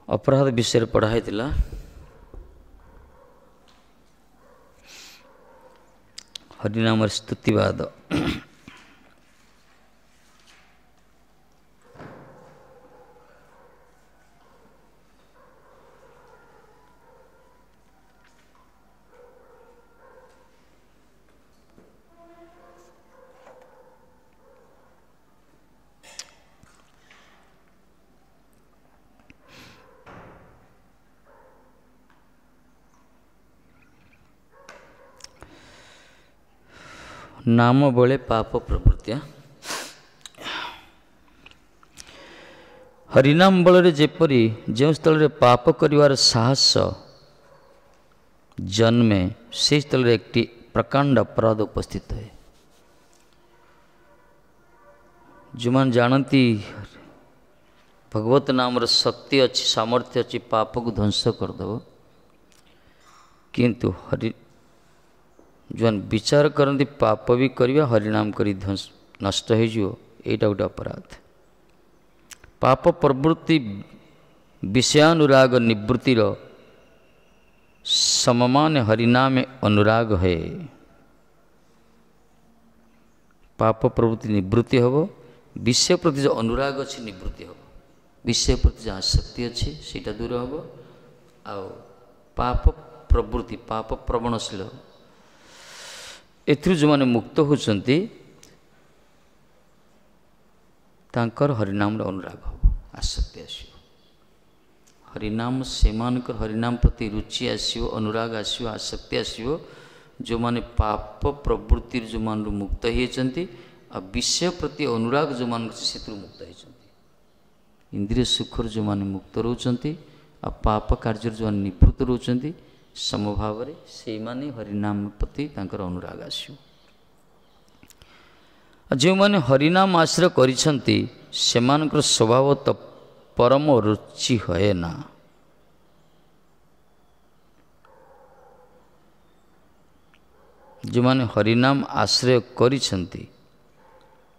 ଅପରାଧ ବିଷୟରେ ପଢ଼ା ହେଇଥିଲା। ହରିନାମର ସ୍ତୁତିବାଦ। ନାମ ବଳେ ପାପ ପ୍ରବୃତ୍ତି। ହରିନାମ ବଳରେ ଯେପରି ଯେଉଁ ସ୍ଥଳରେ ପାପ କରିବାର ସାହସ ଜନ୍ମେ, ସେହି ସ୍ଥଳରେ একটি ପ୍ରକାଣ୍ଡ ଅପରାଧ ଉପସ୍ଥିତ ହୁଏ। ଯେଉଁମାନେ ଜାଣନ୍ତି ଭଗବତ ନାମର ଶକ୍ତି ଅଛି, ସାମର୍ଥ୍ୟ ଅଛି, ପାପକୁ ଧ୍ୱଂସ କରିଦେବ, କିନ୍ତୁ ହରି ଯେଉଁମାନେ ବିଚାର କରନ୍ତି ପାପ ବି କରିବା ହରିନାମ କରି ଧ୍ୱଂସ ନଷ୍ଟ ହେଇଯିବ, ଏଇଟା ଗୋଟେ ଅପରାଧ। ପାପ ପ୍ରବୃତ୍ତି ବିଷୟାନୁରାଗ ନିବୃତ୍ତିର ସମମାନ ହରିନାମେ ଅନୁରାଗ ହେ। ପାପ ପ୍ରବୃତ୍ତି ନିବୃତ୍ତି ହେବ, ବିଷୟ ପ୍ରତି ଯେଉଁ ଅନୁରାଗ ଅଛି ନିବୃତ୍ତି ହେବ, ବିଷୟ ପ୍ରତି ଯେଉଁ ଆସକ୍ତି ଅଛି ସେଇଟା ଦୂର ହେବ। ଆଉ ପାପ ପ୍ରବୃତ୍ତି ପାପ ପ୍ରବଣଶୀଳ ଏଥିରୁ ଯେଉଁମାନେ ମୁକ୍ତ ହେଉଛନ୍ତି ତାଙ୍କର ହରିନାମର ଅନୁରାଗ ହେବ, ଆସକ୍ତି ଆସିବ। ହରିନାମ ସେମାନଙ୍କର ହରିନାମ ପ୍ରତି ରୁଚି ଆସିବ, ଅନୁରାଗ ଆସିବ, ଆସକ୍ତି ଆସିବ। ଯେଉଁମାନେ ପାପ ପ୍ରବୃତ୍ତିରୁ ଯେଉଁମାନଙ୍କୁ ମୁକ୍ତ ହେଇଛନ୍ତି ଆଉ ବିଷୟ ପ୍ରତି ଅନୁରାଗ ଯେଉଁମାନଙ୍କ ଅଛି ସେଥିରୁ ମୁକ୍ତ ହେଇଛନ୍ତି, ଇନ୍ଦ୍ରିୟ ସୁଖରୁ ଯେଉଁମାନେ ମୁକ୍ତ ରହୁଛନ୍ତି ଆଉ ପାପ କାର୍ଯ୍ୟରୁ ଯେଉଁମାନେ ନିବୃତ୍ତ ରହୁଛନ୍ତି, ସମଭାବରେ ସେଇମାନେ ହରିନାମ ପ୍ରତି ତାଙ୍କର ଅନୁରାଗ ଆସିବ। ଆଉ ଯେଉଁମାନେ ହରିନାମ ଆଶ୍ରୟ କରିଛନ୍ତି ସେମାନଙ୍କର ସ୍ୱଭାବ ତ ପରମ ରୁଚି ହୁଏ ନା। ଯେଉଁମାନେ ହରିନାମ ଆଶ୍ରୟ କରିଛନ୍ତି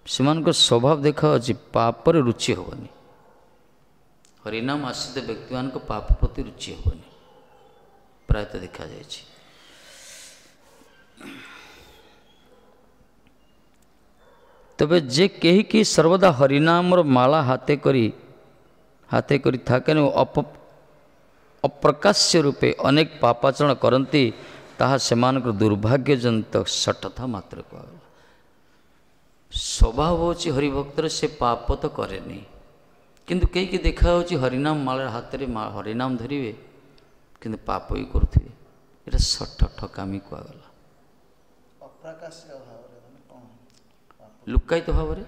ସେମାନଙ୍କର ସ୍ୱଭାବ ଦେଖାଯାଉଛି ପାପରେ ରୁଚି ହେବନି। ହରିନାମ ଆଶ୍ରିତ ବ୍ୟକ୍ତିମାନଙ୍କ ପାପ ପ୍ରତି ରୁଚି ହେବନି, ପ୍ରାୟତଃ ଦେଖାଯାଇଛି। ତେବେ ଯେ କେହି କି ସର୍ବଦା ହରିନାମର ମାଳା ହାତେ କରି থাকেন ଓ ଅପ୍ରକାଶ୍ୟ ରୂପେ ଅନେକ ପାପାଚରଣ କରନ୍ତି, ତାହା ସେମାନଙ୍କର ଦୁର୍ଭାଗ୍ୟଜନିତ ସଠତା ମାତ୍ର କୁହାଗଲା। ସ୍ୱଭାବ ହେଉଛି ହରିଭକ୍ତର ସେ ପାପ ତ କରେନି, କିନ୍ତୁ କେହି କି ଦେଖାଯାଉଛି ହରିନାମ ମାଳ ହାତରେ ହରିନାମ ଧରିବେ କିନ୍ତୁ ପାପ ବି କରୁଥିବେ, ଏଇଟା ସଠ ଠକାମି କୁହାଗଲା। ଲୁକାୟିତ ଭାବରେ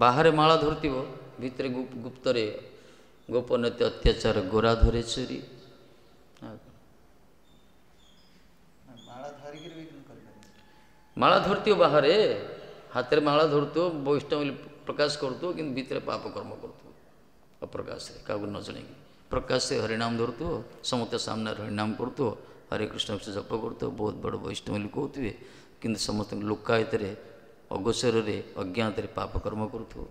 ବାହାରେ ମାଳା ଧରୁଥିବ, ଭିତରେ ଗୁପ୍ତରେ ଗୋପନୀୟ ଅତ୍ୟାଚାର, ଗୋରା ଧରେ ଚୋରି। ମାଳା ଧରୁଥିବ ବାହାରେ, ହାତରେ ମାଳା ଧରୁଥିବ, ବୈଷ୍ଣବ ବୋଲି ପ୍ରକାଶ କରୁଥିବ, କିନ୍ତୁ ଭିତରେ ପାପ କର୍ମ କରୁଥିବ ଅପ୍ରକାଶରେ, କାହାକୁ ନ ଜଣେଇକି। ପ୍ରକାଶରେ ହରିନାମ ଧରୁଥିବ, ସମସ୍ତ ସାମ୍ନାରେ ହରିନାମ କରୁଥିବ, ହରେ କୃଷ୍ଣ ଜପ କରୁଥିବ, ବହୁତ ବଡ଼ ବୈଷ୍ଣବ ବୋଲି କହୁଥିବେ, କିନ୍ତୁ ସମସ୍ତଙ୍କୁ ଲୁକାୟତରେ ଅଗୋଚରରେ ଅଜ୍ଞାତରେ ପାପ କର୍ମ କରୁଥିବ।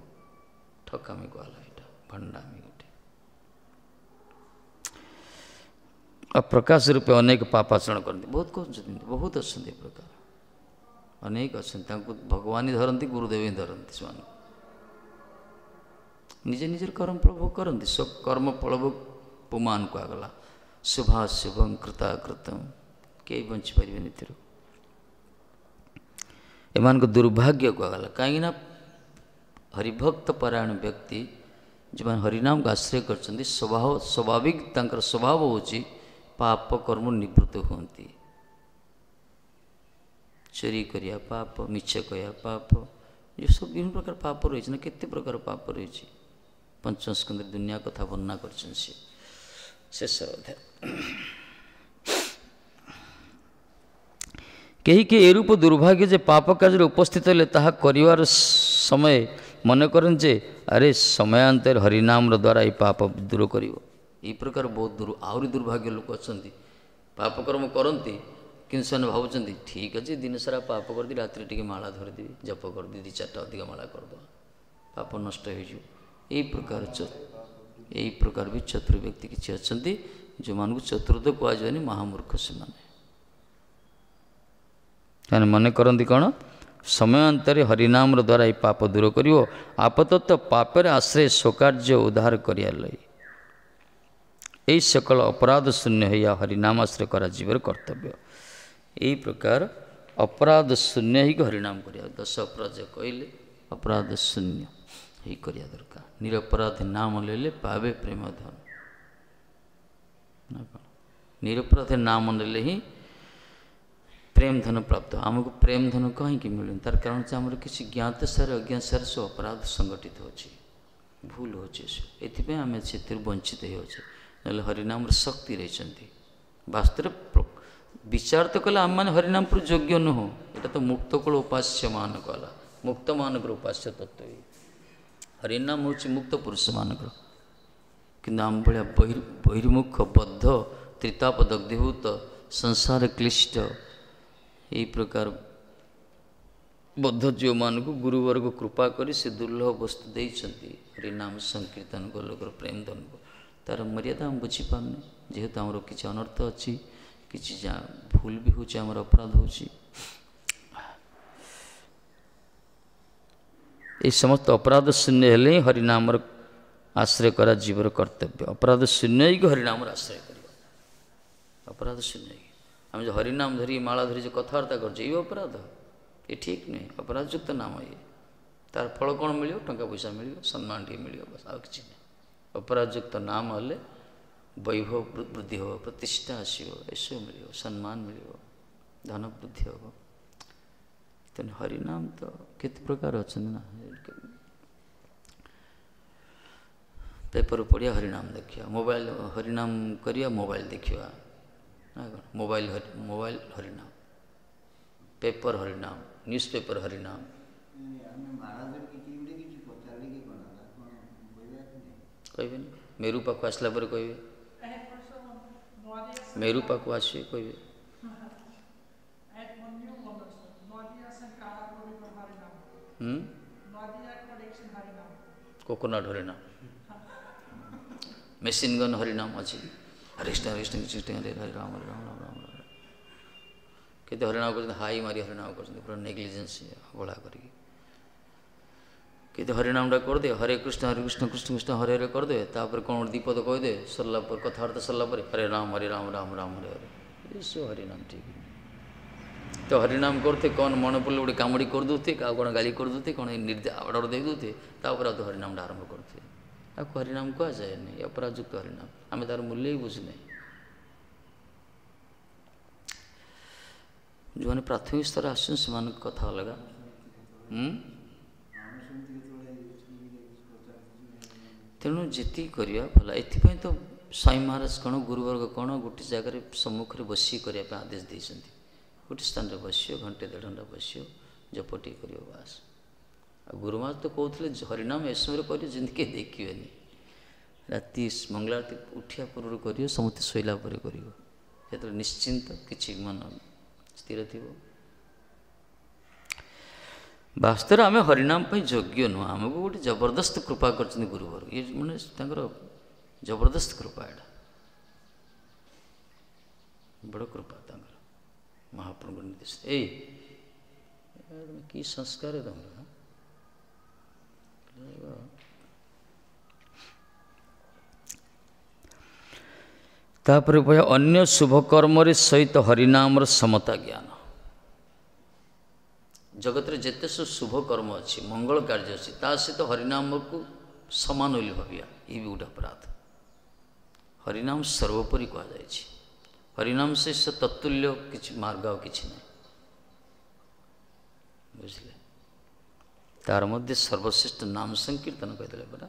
ଠକାମି କୁହାଗଲା, ଏଇଟା ଭଣ୍ଡାମି ଗୋଟେ। ଆଉ ପ୍ରକାଶ ରୂପେ ଅନେକ ପାପ ଆଚରଣ କରନ୍ତି, ବହୁତ କହୁଛନ୍ତି, ବହୁତ ଅଛନ୍ତି ଏ ପ୍ରକାର, ଅନେକ ଅଛନ୍ତି। ତାଙ୍କୁ ଭଗବାନ ହିଁ ଧରନ୍ତି, ଗୁରୁଦେବ ହିଁ ଧରନ୍ତି। ସେମାନେ ନିଜେ ନିଜର କର୍ମ ଫଳ ଭୋଗ କରନ୍ତି। କର୍ମ ଫଳ ଭୋଗ ପୁମାନ କୁହାଗଲା। ଶୁଭାଶୁଭଂ କୃତାକୃତಂ, କେହି ବଞ୍ଚିପାରିବେନି ଏଥିରୁ। ଏମାନଙ୍କ ଦୁର୍ଭାଗ୍ୟ କୁହାଗଲା, କାହିଁକିନା ହରିଭକ୍ତ ପରାୟଣ ବ୍ୟକ୍ତି ଯେଉଁମାନେ ହରିନାମକୁ ଆଶ୍ରୟ କରିଛନ୍ତି, ସ୍ୱାଭାବିକ ତାଙ୍କର ସ୍ୱଭାବ ହେଉଛି ପାପ କର୍ମ ନିବୃତ୍ତ ହୁଅନ୍ତି। ଚୋରି କରିବା ପାପ, ମିଛ କହିବା ପାପ, ଏସବୁ ବିଭିନ୍ନ ପ୍ରକାର ପାପ ରହିଛି ନା, କେତେ ପ୍ରକାର ପାପ ରହିଛି। ପଞ୍ଚମସ୍କନ୍ଧରେ ଦୁନିଆ କଥା ବର୍ଣ୍ଣନା କରିଛନ୍ତି ସେ ଶେଷ ଅଧ୍ୟାୟ। କେହି କେହି ଏରୂପ ଦୁର୍ଭାଗ୍ୟ ଯେ ପାପ କାର୍ଯ୍ୟରେ ଉପସ୍ଥିତ ହେଲେ ତାହା କରିବାର ସମୟ ମନେ କରନ୍ତି ଯେ ଆରେ ସମୟାନ୍ତରେ ହରିନାମର ଦ୍ୱାରା ଏଇ ପାପ ଦୂର କରିବ। ଏଇ ପ୍ରକାର ବହୁତ ଆହୁରି ଦୁର୍ଭାଗ୍ୟ ଲୋକ ଅଛନ୍ତି, ପାପକର୍ମ କରନ୍ତି କିନ୍ତୁ ସେମାନେ ଭାବୁଛନ୍ତି ଠିକ୍ ଅଛି ଦିନ ସାରା ପାପ କରିଦିଏ, ରାତିରେ ଟିକେ ମାଳା ଧରିଦେବି, ଜପ କରିଦିଏ, 2-4ଟା ଅଧିକ ମାଳା କରିଦେବା, ପାପ ନଷ୍ଟ ହେଇଯିବ। ଏଇ ପ୍ରକାର ଏଇ ପ୍ରକାର ବି ଚତୁର ବ୍ୟକ୍ତି କିଛି ଅଛନ୍ତି, ଯେଉଁମାନଙ୍କୁ ଚତୁର ତ କୁହାଯିବନି, ମହାମୂର୍ଖ ସେମାନେ। ସେମାନେ ମନେ କରନ୍ତି କ'ଣ, ସମୟାନ୍ତରେ ହରିନାମର ଦ୍ୱାରା ଏଇ ପାପ ଦୂର କରିବ, ଆପାତତଃ ପାପରେ ଆଶ୍ରୟ ସ୍ୱକାର୍ଯ୍ୟ ଉଦ୍ଧାର କରିବା ଲାଗି। ଏଇ ସକଳ ଅପରାଧ ଶୂନ୍ୟ ହୋଇ ହରିନାମ ଆଶ୍ରୟ କରାଯିବାର କର୍ତ୍ତବ୍ୟ। ଏଇ ପ୍ରକାର ଅପରାଧ ଶୂନ୍ୟ ହେଇକି ହରିନାମ କରିବା, ଦଶ ଅପରାଧ କହିଲେ ଅପରାଧ ଶୂନ୍ୟ ହେଇ କରିବା ଦରକାର। ନିରପରାଧ ନାମ ନେଲେ ପାବେ ପ୍ରେମ ଧନ, ନା କ'ଣ? ନିରପରାଧ ନାମ ନେଲେ ହିଁ ପ୍ରେମ ଧନ ପ୍ରାପ୍ତ। ଆମକୁ ପ୍ରେମ ଧନ କାହିଁକି ମିଳୁନି? ତାର କାରଣ ହେଉଛି ଆମର କିଛି ଜ୍ଞାତ ସାର ଅଜ୍ଞାତ ସାର ସବୁ ଅପରାଧ ସଂଗଠିତ ହେଉଛି, ଭୁଲ ହେଉଛି ଏସବୁ, ଏଥିପାଇଁ ଆମେ ସେଥିରୁ ବଞ୍ଚିତ ହେଉଛେ। ନହେଲେ ହରିନାମର ଶକ୍ତି ରହିଛନ୍ତି। ବାସ୍ତବରେ ବିଚାର ତ କଲେ ଆମେମାନେ ହରିନାମ ପୁର ଯୋଗ୍ୟ ନୁହଁ। ଏଇଟା ତ ମୁକ୍ତକୂଳ ଉପାସ୍ୟ ମାନଙ୍କ ହେଲା, ମୁକ୍ତମାନଙ୍କର ଉପାସ୍ୟ ତତ୍ତ୍ୱ। ହରିନାମ ହେଉଛି ମୁକ୍ତ ପୁରୁଷମାନଙ୍କର, କିନ୍ତୁ ଆମ ଭଳିଆ ବହିର୍ମୁଖ ବଦ୍ଧ ତ୍ରିତାପ ଦଗ୍ଧୀଭୂତ ସଂସାର କ୍ଲିଷ୍ଟ ଏଇ ପ୍ରକାର ବଦ୍ଧ ଜୀବମାନଙ୍କୁ ଗୁରୁବର୍ଗ କୃପା କରି ସେ ଦୁର୍ଲଭ ବସ୍ତୁ ଦେଇଛନ୍ତି ହରିନାମ ସଂକୀର୍ତ୍ତନ ଗୋଲୋକର ପ୍ରେମ ଧନକୁ। ତାର ମର୍ଯ୍ୟାଦା ଆମେ ବୁଝିପାରୁନେ, ଯେହେତୁ ଆମର କିଛି ଅନର୍ଥ ଅଛି, କିଛି ଭୁଲ ବି ହେଉଛି, ଆମର ଅପରାଧ ହେଉଛି। এই ସମସ୍ତ ଅପରାଧ ଶୂନ୍ୟ ହେଲେ ହିଁ ହରିନାମର ଆଶ୍ରୟ କରା ଜୀବର କର୍ତ୍ତବ୍ୟ। ଅପରାଧ ଶୂନ୍ୟ ହେଇକି ହରିନାମର ଆଶ୍ରୟ କରିବା, ଅପରାଧ ଶୂନ୍ୟ ହେଇକି। ଆମେ ଯେଉଁ ହରିନାମ ଧରି ମାଳା ଧରି ଯେଉଁ କଥାବାର୍ତ୍ତା କରୁଛେ, ଏଇ ଅପରାଧ, ଏ ଠିକ୍ ନୁହେଁ, ଅପରାଧଯୁକ୍ତ ନାମ ଇଏ। ତାର ଫଳ କ'ଣ ମିଳିବ? ଟଙ୍କା ପଇସା ମିଳିବ, ସମ୍ମାନ ଟିକେ ମିଳିବ, ବାସ୍, ଆଉ କିଛି ନାହିଁ। ଅପରାଧଯୁକ୍ତ ନାମ ହେଲେ ବୈଭବ ବୃଦ୍ଧି ହେବ, ପ୍ରତିଷ୍ଠା ଆସିବ, ଏସବୁ ମିଳିବ, ସମ୍ମାନ ମିଳିବ, ଧନ ବୃଦ୍ଧି ହେବ। ତେଣୁ ହରିନାମ ତ କେତେ ପ୍ରକାର ଅଛନ୍ତି ନା, ପେପର ପଢ଼ିବା ହରିନାମ ଦେଖିବା, ମୋବାଇଲ ହରିନାମ କରିବା, ମୋବାଇଲ ଦେଖିବା, ନା କ'ଣ? ମୋବାଇଲ ମୋବାଇଲ ହରିନାମ, ପେପର ହରିନାମ, ନ୍ୟୁଜ୍ ପେପର ହରିନାମ। କହିବେନି, ମେରୁ ପାଖକୁ ଆସିଲା ପରେ କହିବେ, ମେରୁ ପାଖକୁ ଆସିବେ କହିବେ। କୋକୋନଟ୍ ହରିନାମ, ମେସିନ୍ ଗନ୍ ହରିନାମ ଅଛି। ହରେ କୃଷ୍ଣ ହରେ କୃଷ୍ଣ କୃଷ୍ଣ ହରେ ହରେ ରାମ ହରେ ରାମ ରାମ ରାମ ହରେ। କେତେ ହରିନାମ କରୁଛନ୍ତି, ହାଇ ମାରି ହରିନାମ କରୁଛନ୍ତି, ପୁରା ନେଗ୍ଲିଜେନ୍ସ ଅବହେଳା କରିକି। କେତେ ହରିନାମଟା କରିଦେ, ହରେ କୃଷ୍ଣ ହରେ କୃଷ୍ଣ କୃଷ୍ଣ କୃଷ୍ଣ ହରେ ହରେ କରିଦେବେ, ତାପରେ କ'ଣ ଗୋଟେ ଦ୍ୱିପଦ କହିଦେବେ, ସରିଲା ପରେ କଥାବାର୍ତ୍ତା ସରିଲା ପରେ ହରେ ରାମ ହରେ ରାମ ରାମ ରାମ ହରେ ହରେ, ଏସବୁ ହରିନାମ ଠିକ୍। ତ ହରିନାମ କରୁଥିବେ, କ'ଣ ମନେ ପଡ଼ିଲେ ଗୋଟେ କାମୁଡ଼ି କରିଦେଉଥିବେ, କାହାକୁ କ'ଣ ଗାଳି କରିଦେଉଥିବେ, କ'ଣ ଅର୍ଡ଼ର ଦେଇଦେଉଥିବେ, ତାପରେ ଆଉ ତ ହରିନାମଟା ଆରମ୍ଭ କରୁଥିବେ। ତାକୁ ହରିନାମ କୁହାଯାଏନି, ଅପରାଧଯୁକ୍ତ ହରିନାମ। ଆମେ ତାର ମୂଲ୍ୟ ହିଁ ବୁଝୁନାହିଁ। ଯେଉଁମାନେ ପ୍ରାଥମିକ ସ୍ତର ଆସୁଛନ୍ତି ସେମାନଙ୍କ କଥା ଅଲଗା। ତେଣୁ ଯେତିକି କରିବା ଭଲ। ଏଥିପାଇଁ ତ ସ୍ୱାମୀ ମହାରାଜ କ'ଣ ଗୁରୁବର୍ଗ କ'ଣ ଗୋଟେ ଜାଗାରେ ସମ୍ମୁଖରେ ବସିକି କରିବା ପାଇଁ ଆଦେଶ ଦେଇଛନ୍ତି। ଗୋଟେ ସ୍ଥାନରେ ବସିବ, ଘଣ୍ଟେ ଦେଢ଼ ଘଣ୍ଟା ବସିବ, ଜପ ଟିକେ କରିବ, ବାସ୍। ଆଉ ଗୁରୁମା ତ କହୁଥିଲେ ହରିନାମ ଏ ସମୟରେ କରିବ ଯେମିତି କେହି ଦେଖିବେନି। ରାତି ମଙ୍ଗଳାଆରତି ଉଠିବା ପୂର୍ବରୁ କରିବ, ସମସ୍ତେ ଶୋଇଲା ପରେ କରିବ, ସେତେବେଳେ ନିଶ୍ଚିନ୍ତ କିଛି ମନ ସ୍ଥିର ଥିବ। ବାସ୍ତବରେ ଆମେ ହରିନାମ ପାଇଁ ଯୋଗ୍ୟ ନୁହଁ, ଆମକୁ ଗୋଟେ ଜବରଦସ୍ତ କୃପା କରିଛନ୍ତି ଗୁରୁବର୍ଗ। ଇଏ ମାନେ ତାଙ୍କର ଜବରଦସ୍ତ କୃପା, ଏଇଟା ବଡ଼ କୃପା ତାଙ୍କର ମହାପ୍ରଭୁଙ୍କ ନିର୍ଦ୍ଦେଶ। ଏଇ କି ସଂସ୍କାର ତମର। ତାପରେ କହିବା ଅନ୍ୟ ଶୁଭକର୍ମରେ ସହିତ ହରିନାମର ସମତା ଜ୍ଞାନ। ଜଗତରେ ଯେତେ ସବୁ ଶୁଭ କର୍ମ ଅଛି, ମଙ୍ଗଳ କାର୍ଯ୍ୟ ଅଛି, ତା ସହିତ ହରିନାମକୁ ସମାନ ବୋଲି ଭାବିବା ଇଏ ବି ଗୋଟେ ଅପରାଧ। ହରିନାମ ସର୍ବୋପରି କୁହାଯାଇଛି। ହରିନାମ ସହିତ ତତ୍ତୁଲ୍ୟ କିଛି ମାର୍ଗ ଆଉ କିଛି ନାହିଁ, ବୁଝିଲେ? ତାର ମଧ୍ୟ ସର୍ବଶ୍ରେଷ୍ଠ ନାମ ସଂକୀର୍ତ୍ତନ କହିଦେଲେ ପରା।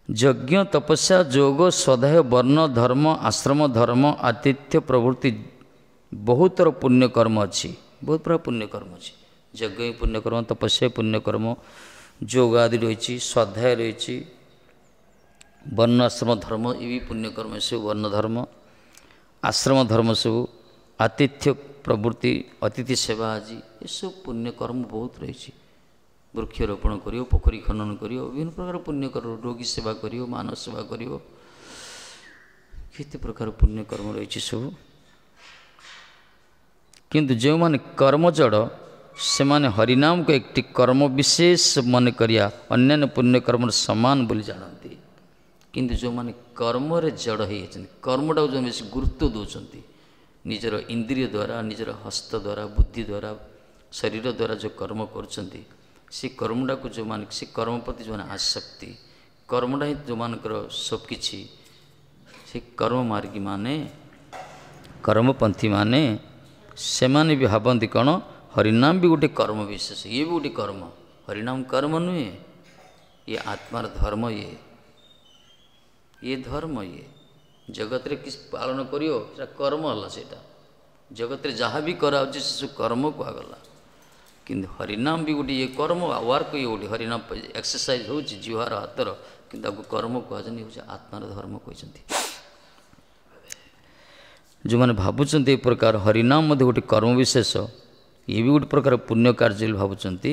ଯଜ୍ଞ, ତପସ୍ୟା, ଯୋଗ, ସ୍ୱାଧ୍ୟାୟ, ବର୍ଣ୍ଣ ଧର୍ମ, ଆଶ୍ରମ ଧର୍ମ, ଆତିଥ୍ୟ ପ୍ରଭୃତି ବହୁତର ପୁଣ୍ୟକର୍ମ ଅଛି, ବହୁତ ପ୍ରକାର ପୁଣ୍ୟକର୍ମ ଅଛି। ଯଜ୍ଞ ହିଁ ପୁଣ୍ୟକର୍ମ, ତପସ୍ୟା ପୁଣ୍ୟକର୍ମ, ଯୋଗ ଆଦି ରହିଛି, ସ୍ୱାଧ୍ୟାୟ ରହିଛି, ବର୍ଣ୍ଣ ଆଶ୍ରମ ଧର୍ମ ଏ ବି ପୁଣ୍ୟକର୍ମ, ଏସବୁ ବର୍ଣ୍ଣ ଧର୍ମ, ଆଶ୍ରମ ଧର୍ମ ସବୁ, ଆତିଥ୍ୟ ପ୍ରଭୃତି, ଅତିଥି ସେବା ଆଜି, ଏସବୁ ପୁଣ୍ୟକର୍ମ ବହୁତ ରହିଛି। ବୃକ୍ଷରୋପଣ କରିବ, ପୋଖରୀ ଖନନ କରିବ, ବିଭିନ୍ନ ପ୍ରକାର ପୁଣ୍ୟ କର୍ମ, ରୋଗୀ ସେବା କରିବ, ମାନବ ସେବା କରିବ, କେତେ ପ୍ରକାର ପୁଣ୍ୟ କର୍ମ ରହିଛି ସବୁ। କିନ୍ତୁ ଯେଉଁମାନେ କର୍ମ ଜଡ଼ ସେମାନେ ହରିନାମକୁ একটি କର୍ମ ବିଶେଷ ମନେ କରିବା ଅନ୍ୟାନ୍ୟ ପୁଣ୍ୟକର୍ମର ସମାନ ବୋଲି ଜାଣନ୍ତି। କିନ୍ତୁ ଯେଉଁମାନେ କର୍ମରେ ଜଡ଼ ହେଇଯାଇଛନ୍ତି, କର୍ମଟାକୁ ଯେଉଁ ବେଶୀ ଗୁରୁତ୍ୱ ଦେଉଛନ୍ତି, ନିଜର ଇନ୍ଦ୍ରିୟ ଦ୍ୱାରା, ନିଜର ହସ୍ତ ଦ୍ୱାରା, ବୁଦ୍ଧି ଦ୍ୱାରା, ଶରୀର ଦ୍ୱାରା ଯେଉଁ କର୍ମ କରୁଛନ୍ତି, ସେ କର୍ମଟାକୁ ଯେଉଁମାନେ, ସେ କର୍ମ ପ୍ରତି ଯେଉଁମାନେ ଆସକ୍ତି, କର୍ମଟା ହିଁ ଯେଉଁମାନଙ୍କର ସବୁକିଛି, ସେ କର୍ମ ମାର୍ଗୀମାନେ, କର୍ମପନ୍ଥୀମାନେ, ସେମାନେ ବି ଭାବନ୍ତି କ'ଣ, ହରିନାମ ବି ଗୋଟେ କର୍ମ ବିଶେଷ, ଇଏ ବି ଗୋଟେ କର୍ମ। ହରିନାମ କର୍ମ ନୁହେଁ, ଇଏ ଆତ୍ମାର ଧର୍ମ, ଇଏ ଧର୍ମ। ଇଏ ଜଗତରେ କିଛି ପାଳନ କରିବ ସେଟା କର୍ମ ହେଲା, ସେଇଟା ଜଗତରେ ଯାହା ବି କରାହେଉଛି ସେସବୁ କର୍ମ କୁହାଗଲା। କିନ୍ତୁ ହରିନାମ ବି ଗୋଟେ ଇଏ କର୍ମ, ୱାର୍କ ଇଏ ଗୋଟେ ହରିନାମ ଏକ୍ସରସାଇଜ ହେଉଛି ଜିହ୍ୱାର ହାତର, କିନ୍ତୁ ତାକୁ କର୍ମ କୁହାଯାଉନି, ହେଉଛି ଆତ୍ମାର ଧର୍ମ କହିଛନ୍ତି। ଯେଉଁମାନେ ଭାବୁଛନ୍ତି ଏ ପ୍ରକାର ହରିନାମ ମଧ୍ୟ ଗୋଟେ କର୍ମ ବିଶେଷ, ଇଏ ବି ଗୋଟେ ପ୍ରକାର ପୁଣ୍ୟ କାର୍ଯ୍ୟ ବୋଲି ଭାବୁଛନ୍ତି,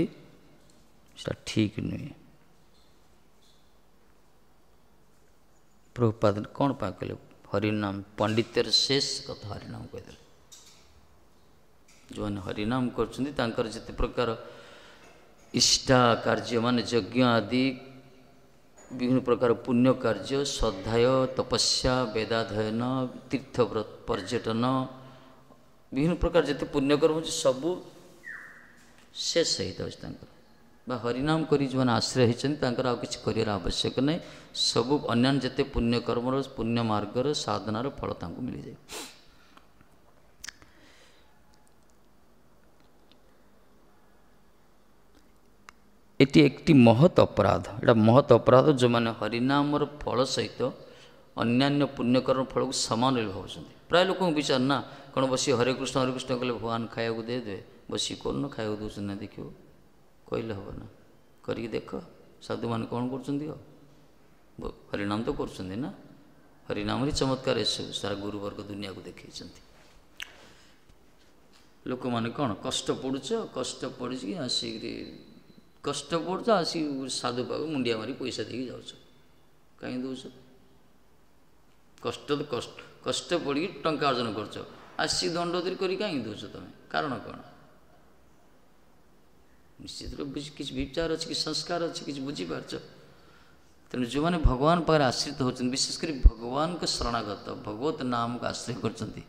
ସେଟା ଠିକ୍ ନୁହେଁ। ପ୍ରଭୁପାଦ କ'ଣ ପାଇଁ କହିଲେ ହରିନାମ ପଣ୍ଡିତ୍ୟର ଶେଷ କଥା ହରିନାମ କହିଦେଲେ। ଯେଉଁମାନେ ହରିନାମ କରୁଛନ୍ତି ତାଙ୍କର ଯେତେ ପ୍ରକାର ଇଷ୍ଟା କାର୍ଯ୍ୟ ମାନେ ଯଜ୍ଞ ଆଦି ବିଭିନ୍ନ ପ୍ରକାର ପୁଣ୍ୟ କାର୍ଯ୍ୟ, ସ୍ୱାଧ୍ୟାୟ, ତପସ୍ୟା, ବେଦାଧ୍ୟୟନ, ତୀର୍ଥ ପର୍ଯ୍ୟଟନ, ବିଭିନ୍ନ ପ୍ରକାର ଯେତେ ପୁଣ୍ୟକର୍ମ ଅଛି ସବୁ ଶେଷ ହେଇଯାଉଛି ତାଙ୍କର। ବା ହରିନାମ କରି ଯେଉଁମାନେ ଆଶ୍ରୟ ହେଇଛନ୍ତି ତାଙ୍କର ଆଉ କିଛି କରିବାର ଆବଶ୍ୟକ ନାହିଁ, ସବୁ ଅନ୍ୟାନ୍ୟ ଯେତେ ପୁଣ୍ୟକର୍ମର, ପୁଣ୍ୟ ମାର୍ଗର ସାଧନାର ଫଳ ତାଙ୍କୁ ମିଳିଯାଏ। ଏଟି একটি ମହତ୍ ଅପରାଧ, ଏଇଟା ମହତ୍ ଅପରାଧ। ଯେଉଁମାନେ ହରିନାମର ଫଳ ସହିତ ଅନ୍ୟାନ୍ୟ ପୁଣ୍ୟକର୍ମ ଫଳକୁ ସମାନ ବୋଲି ଭାବୁଛନ୍ତି। ପ୍ରାୟ ଲୋକଙ୍କ ବିଚାର ନା କ'ଣ ବସି ହରେ କୃଷ୍ଣ ହରେ କୃଷ୍ଣ କଲେ ଭଗବାନ ଖାଇବାକୁ ଦେଇଦେବେ, ବସି କରୁନ ଖାଇବାକୁ ଦେଉଛନ୍ତି ନା, ଦେଖିବ କହିଲେ ହେବ ନା, କରିକି ଦେଖ ସାଧୁମାନେ କ'ଣ କରୁଛନ୍ତି। ଆଉ ହରିନାମ ତ କରୁଛନ୍ତି ନା, ହରିନାମରେ ଚମତ୍କାର ଏସବୁ ସାରା ଗୁରୁବର୍ଗ ଦୁନିଆକୁ ଦେଖେଇଛନ୍ତି। ଲୋକମାନେ କ'ଣ କଷ୍ଟ ପଡ଼ୁଛ, କଷ୍ଟ ପଡ଼ିଛି ଆସିକିରି କଷ୍ଟ ପଡ଼ୁଛ, ଆସିକି ସାଧୁ ପାଖକୁ ମୁଣ୍ଡିଆ ମାରି ପଇସା ଦେଇକି ଯାଉଛ, କାହିଁକି ଦେଉଛ? କଷ୍ଟ ତ କଷ୍ଟ, କଷ୍ଟ ପଡ଼ିକି ଟଙ୍କା ଅର୍ଜନ କରୁଛ, ଆସିକି ଦଣ୍ଡୋଦରି କରି କାହିଁକି ଦେଉଛ ତୁମେ? କାରଣ କ'ଣ? ନିଶ୍ଚିତ କିଛି ବିଚାର ଅଛି, କିଛି ସଂସ୍କାର ଅଛି, କିଛି ବୁଝିପାରୁଛ। ତେଣୁ ଯେଉଁମାନେ ଭଗବାନ ପାଖରେ ଆଶ୍ରିତ ହେଉଛନ୍ତି, ବିଶେଷ କରି ଭଗବାନଙ୍କ ଶରଣାଗତ, ଭଗବତ ନାମକୁ ଆଶ୍ରୟ କରୁଛନ୍ତି,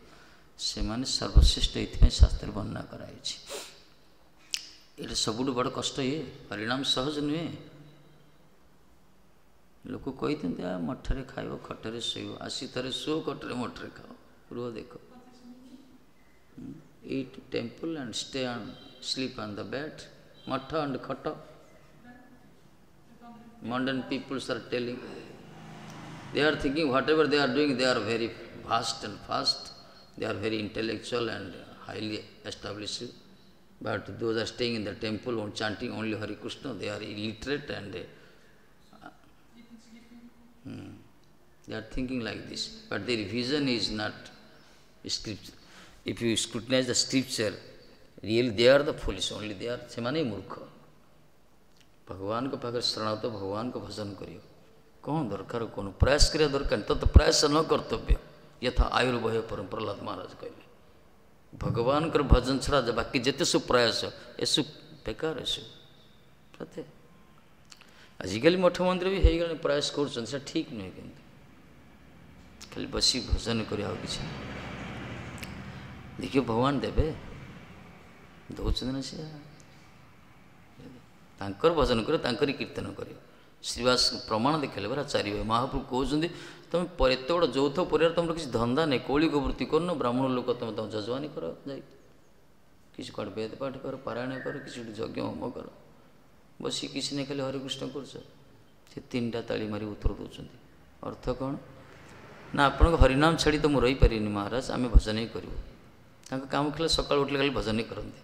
ସେମାନେ ସର୍ବଶ୍ରେଷ୍ଠ। ଏଥିପାଇଁ ଶାସ୍ତ୍ରରେ ବର୍ଣ୍ଣନା କରାଯାଇଛି। ଏଇଟା ସବୁଠୁ ବଡ଼ କଷ୍ଟ, ଇଏ ପରିଣାମ ସହଜ ନୁହେଁ। ଲୋକ କହିଥାନ୍ତି ଆ ମଠରେ ଖାଇବ, ଖଟରେ ଶୋଇବ, ଆସି ଥରେ ଶୋ ଖଟରେ ମଠରେ ଖାଅ, ରୁହ ଦେଖ। Eat temple and stay and sleep on the bed, math and ଖଟ। Modern peoples are telling, they are thinking whatever they are doing, they are very vast and fast, they are very intellectual and highly established. But those are staying in the temple and chanting only Hare Krishna, they are illiterate and they are thinking like this. But their vision is not scripture. If you scrutinize the scripture, really they are the foolish, only they are, ସେମାନେ ମୂର୍ଖ। ଭଗବାନଙ୍କ ପାଖରେ ଶରଣାଗତ, ଭଗବାନଙ୍କ ଭଜନ କରିବ, କ'ଣ ଦରକାର, କ'ଣ ପ୍ରୟାସ କରିବା ଦରକାର, ତତ ପ୍ରୟାସ ନ କର୍ତ୍ତବ୍ୟ ଯଥା ଆୟୁର୍ଭୟ ପରମ। ପ୍ରହ୍ଲାଦ ମହାରାଜ କହିଲେ ଭଗବାନଙ୍କର ଭଜନ ଛଡ଼ା ବାକି ଯେତେ ସବୁ ପ୍ରୟାସ ଏସବୁ ବେକାର, ଏସବୁ ସତେ। ଆଜିକାଲି ମଠ ମନ୍ଦିର ବି ହେଇଗଲାଣି, ପ୍ରୟାସ କରୁଛନ୍ତି, ସେଟା ଠିକ୍ ନୁହେଁ। କିନ୍ତୁ ଖାଲି ବସି ଭଜନ କରିବା ଆଉ କିଛି ଦେଖିବ ଭଗବାନ ଦେବେ, ଦେଉଛନ୍ତି ନା ସେ। ତାଙ୍କର ଭଜନ କରିବ, ତାଙ୍କରି କୀର୍ତ୍ତନ କରିବ। ଶ୍ରୀବାସ ପ୍ରମାଣ ଦେଖାଇଲେ ପରା ଚାରି ଭାଇ। ମହାପ୍ରଭୁ କହୁଛନ୍ତି ତୁମେ ଏତେ ବଡ଼ ଯୌଥ ପରିବାର, ତୁମର କିଛି ଧନ୍ଦା ନାହିଁ, କୌଳିକ ବୃତ୍ତି କରୁନ, ବ୍ରାହ୍ମଣ ଲୋକ ତୁମେ ତମ ଯଜମାନୀ କର, ଯାଇ କିଛି କୁଆଡ଼େ ବେଦ ପାଠ କର, ପାରାୟଣ କର, କିଛି ଗୋଟେ ଯଜ୍ଞ ହୋମ କର, ବସି କିଛି ନାହିଁ ଖାଲି ହରେକୃଷ୍ଣ କରୁଛ। ସେ ତିନିଟା ତାଳି ମାରି ଉତ୍ତର ଦେଉଛନ୍ତି। ଅର୍ଥ କ'ଣ ନା ଆପଣଙ୍କ ହରିନାମ ଛାଡ଼ି ତ ମୁଁ ରହିପାରିବିନି ମହାରାଜ, ଆମେ ଭଜନ ହିଁ କରିବୁ। ତାଙ୍କ କାମ ଥିଲା ସକାଳୁ ଉଠିଲେ ଖାଲି ଭଜନ ହିଁ କରନ୍ତି,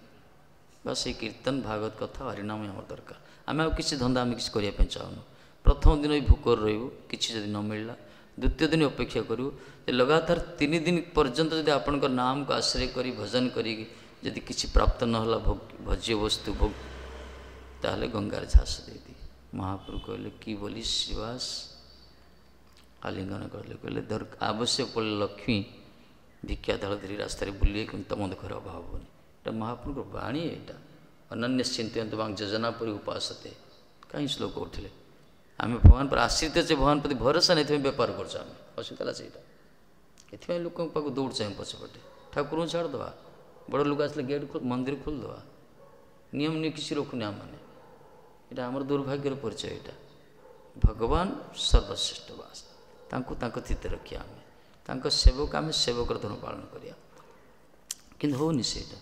ବାସ୍ ସେଇ କୀର୍ତ୍ତନ ଭାଗବତ କଥା ହରିନାମ ହିଁ ଆମର ଦରକାର, ଆମେ ଆଉ କିଛି ଧନ୍ଦା ଆମେ କିଛି କରିବା ପାଇଁ ଚାହୁଁନୁ। ପ୍ରଥମ ଦିନ ବି ଭୋକରେ ରହିବୁ, କିଛି ଯଦି ନ ମିଳିଲା, ଦ୍ୱିତୀୟ ଦିନ ଅପେକ୍ଷା କରିବୁ, ଯେ ଲଗାତାର 3 ଦିନ ପର୍ଯ୍ୟନ୍ତ ଯଦି ଆପଣଙ୍କ ନାମକୁ ଆଶ୍ରୟ କରି ଭଜନ କରିକି ଯଦି କିଛି ପ୍ରାପ୍ତ ନହେଲା ଭୋଗ ଭଜ୍ୟ ବସ୍ତୁ ଭୋଗ, ତାହେଲେ ଗଙ୍ଗାରେ ଝାସ ଦେଇଦିଏ। ମହାପ୍ରଭୁ କହିଲେ କି ବୋଲି ଶ୍ରୀବାସ, ଆଲିଙ୍ଗନ କଲେ, କହିଲେ ଆବଶ୍ୟକ ପଡ଼ିଲେ ଲକ୍ଷ୍ମୀ ଭିକ୍ଷା ଦଳ ଧରି ରାସ୍ତାରେ ବୁଲିବେ, କିନ୍ତୁ ତମ ଦୁଃଖର ଅଭାବ ହେବନି। ଏଇଟା ମହାପ୍ରଭୁଙ୍କ ବାଣୀ। ଏଇଟା ଅନନ୍ୟ ଚିନ୍ତୟନ୍ତ ବାଙ୍କ ଯୋଜନା ପରି ଉପାସତେ। କାହିଁ ଶ୍ଲୋକ ଉଠିଲେ? ଆମେ ଭଗବାନ ପରେ ଆଶ୍ରିତ ଅଛି, ଭଗବାନ ପ୍ରତି ଭରସା ନାହିଁ, ଏଥିପାଇଁ ବେପାର କରୁଛୁ ଆମେ। ଅସୁବିଧା ହେଲା ସେଇଟା, ଏଥିପାଇଁ ଲୋକଙ୍କ ପାଖକୁ ଦୌଡ଼ୁଛୁ ଆମେ ପଛପଟେ। ଠାକୁରଙ୍କୁ ଛାଡ଼ିଦେବା, ବଡ଼ ଲୋକ ଆସିଲେ ଗେଟ୍ ମନ୍ଦିର ଖୋଲିଦେବା, ନିୟମ ନିୟ କିଛି ରଖୁନି ଆମମାନେ। ଏଇଟା ଆମର ଦୁର୍ଭାଗ୍ୟର ପରିଚୟ। ଏଇଟା ଭଗବାନ ସର୍ବଶ୍ରେଷ୍ଠ ବାସ, ତାଙ୍କୁ ତାଙ୍କ ସ୍ଥିତିରେ ରଖିବା ଆମେ, ତାଙ୍କ ସେବକ ଆମେ, ସେବକର ଧର୍ମ ପାଳନ କରିବା। କିନ୍ତୁ ହେଉନି ସେଇଟା,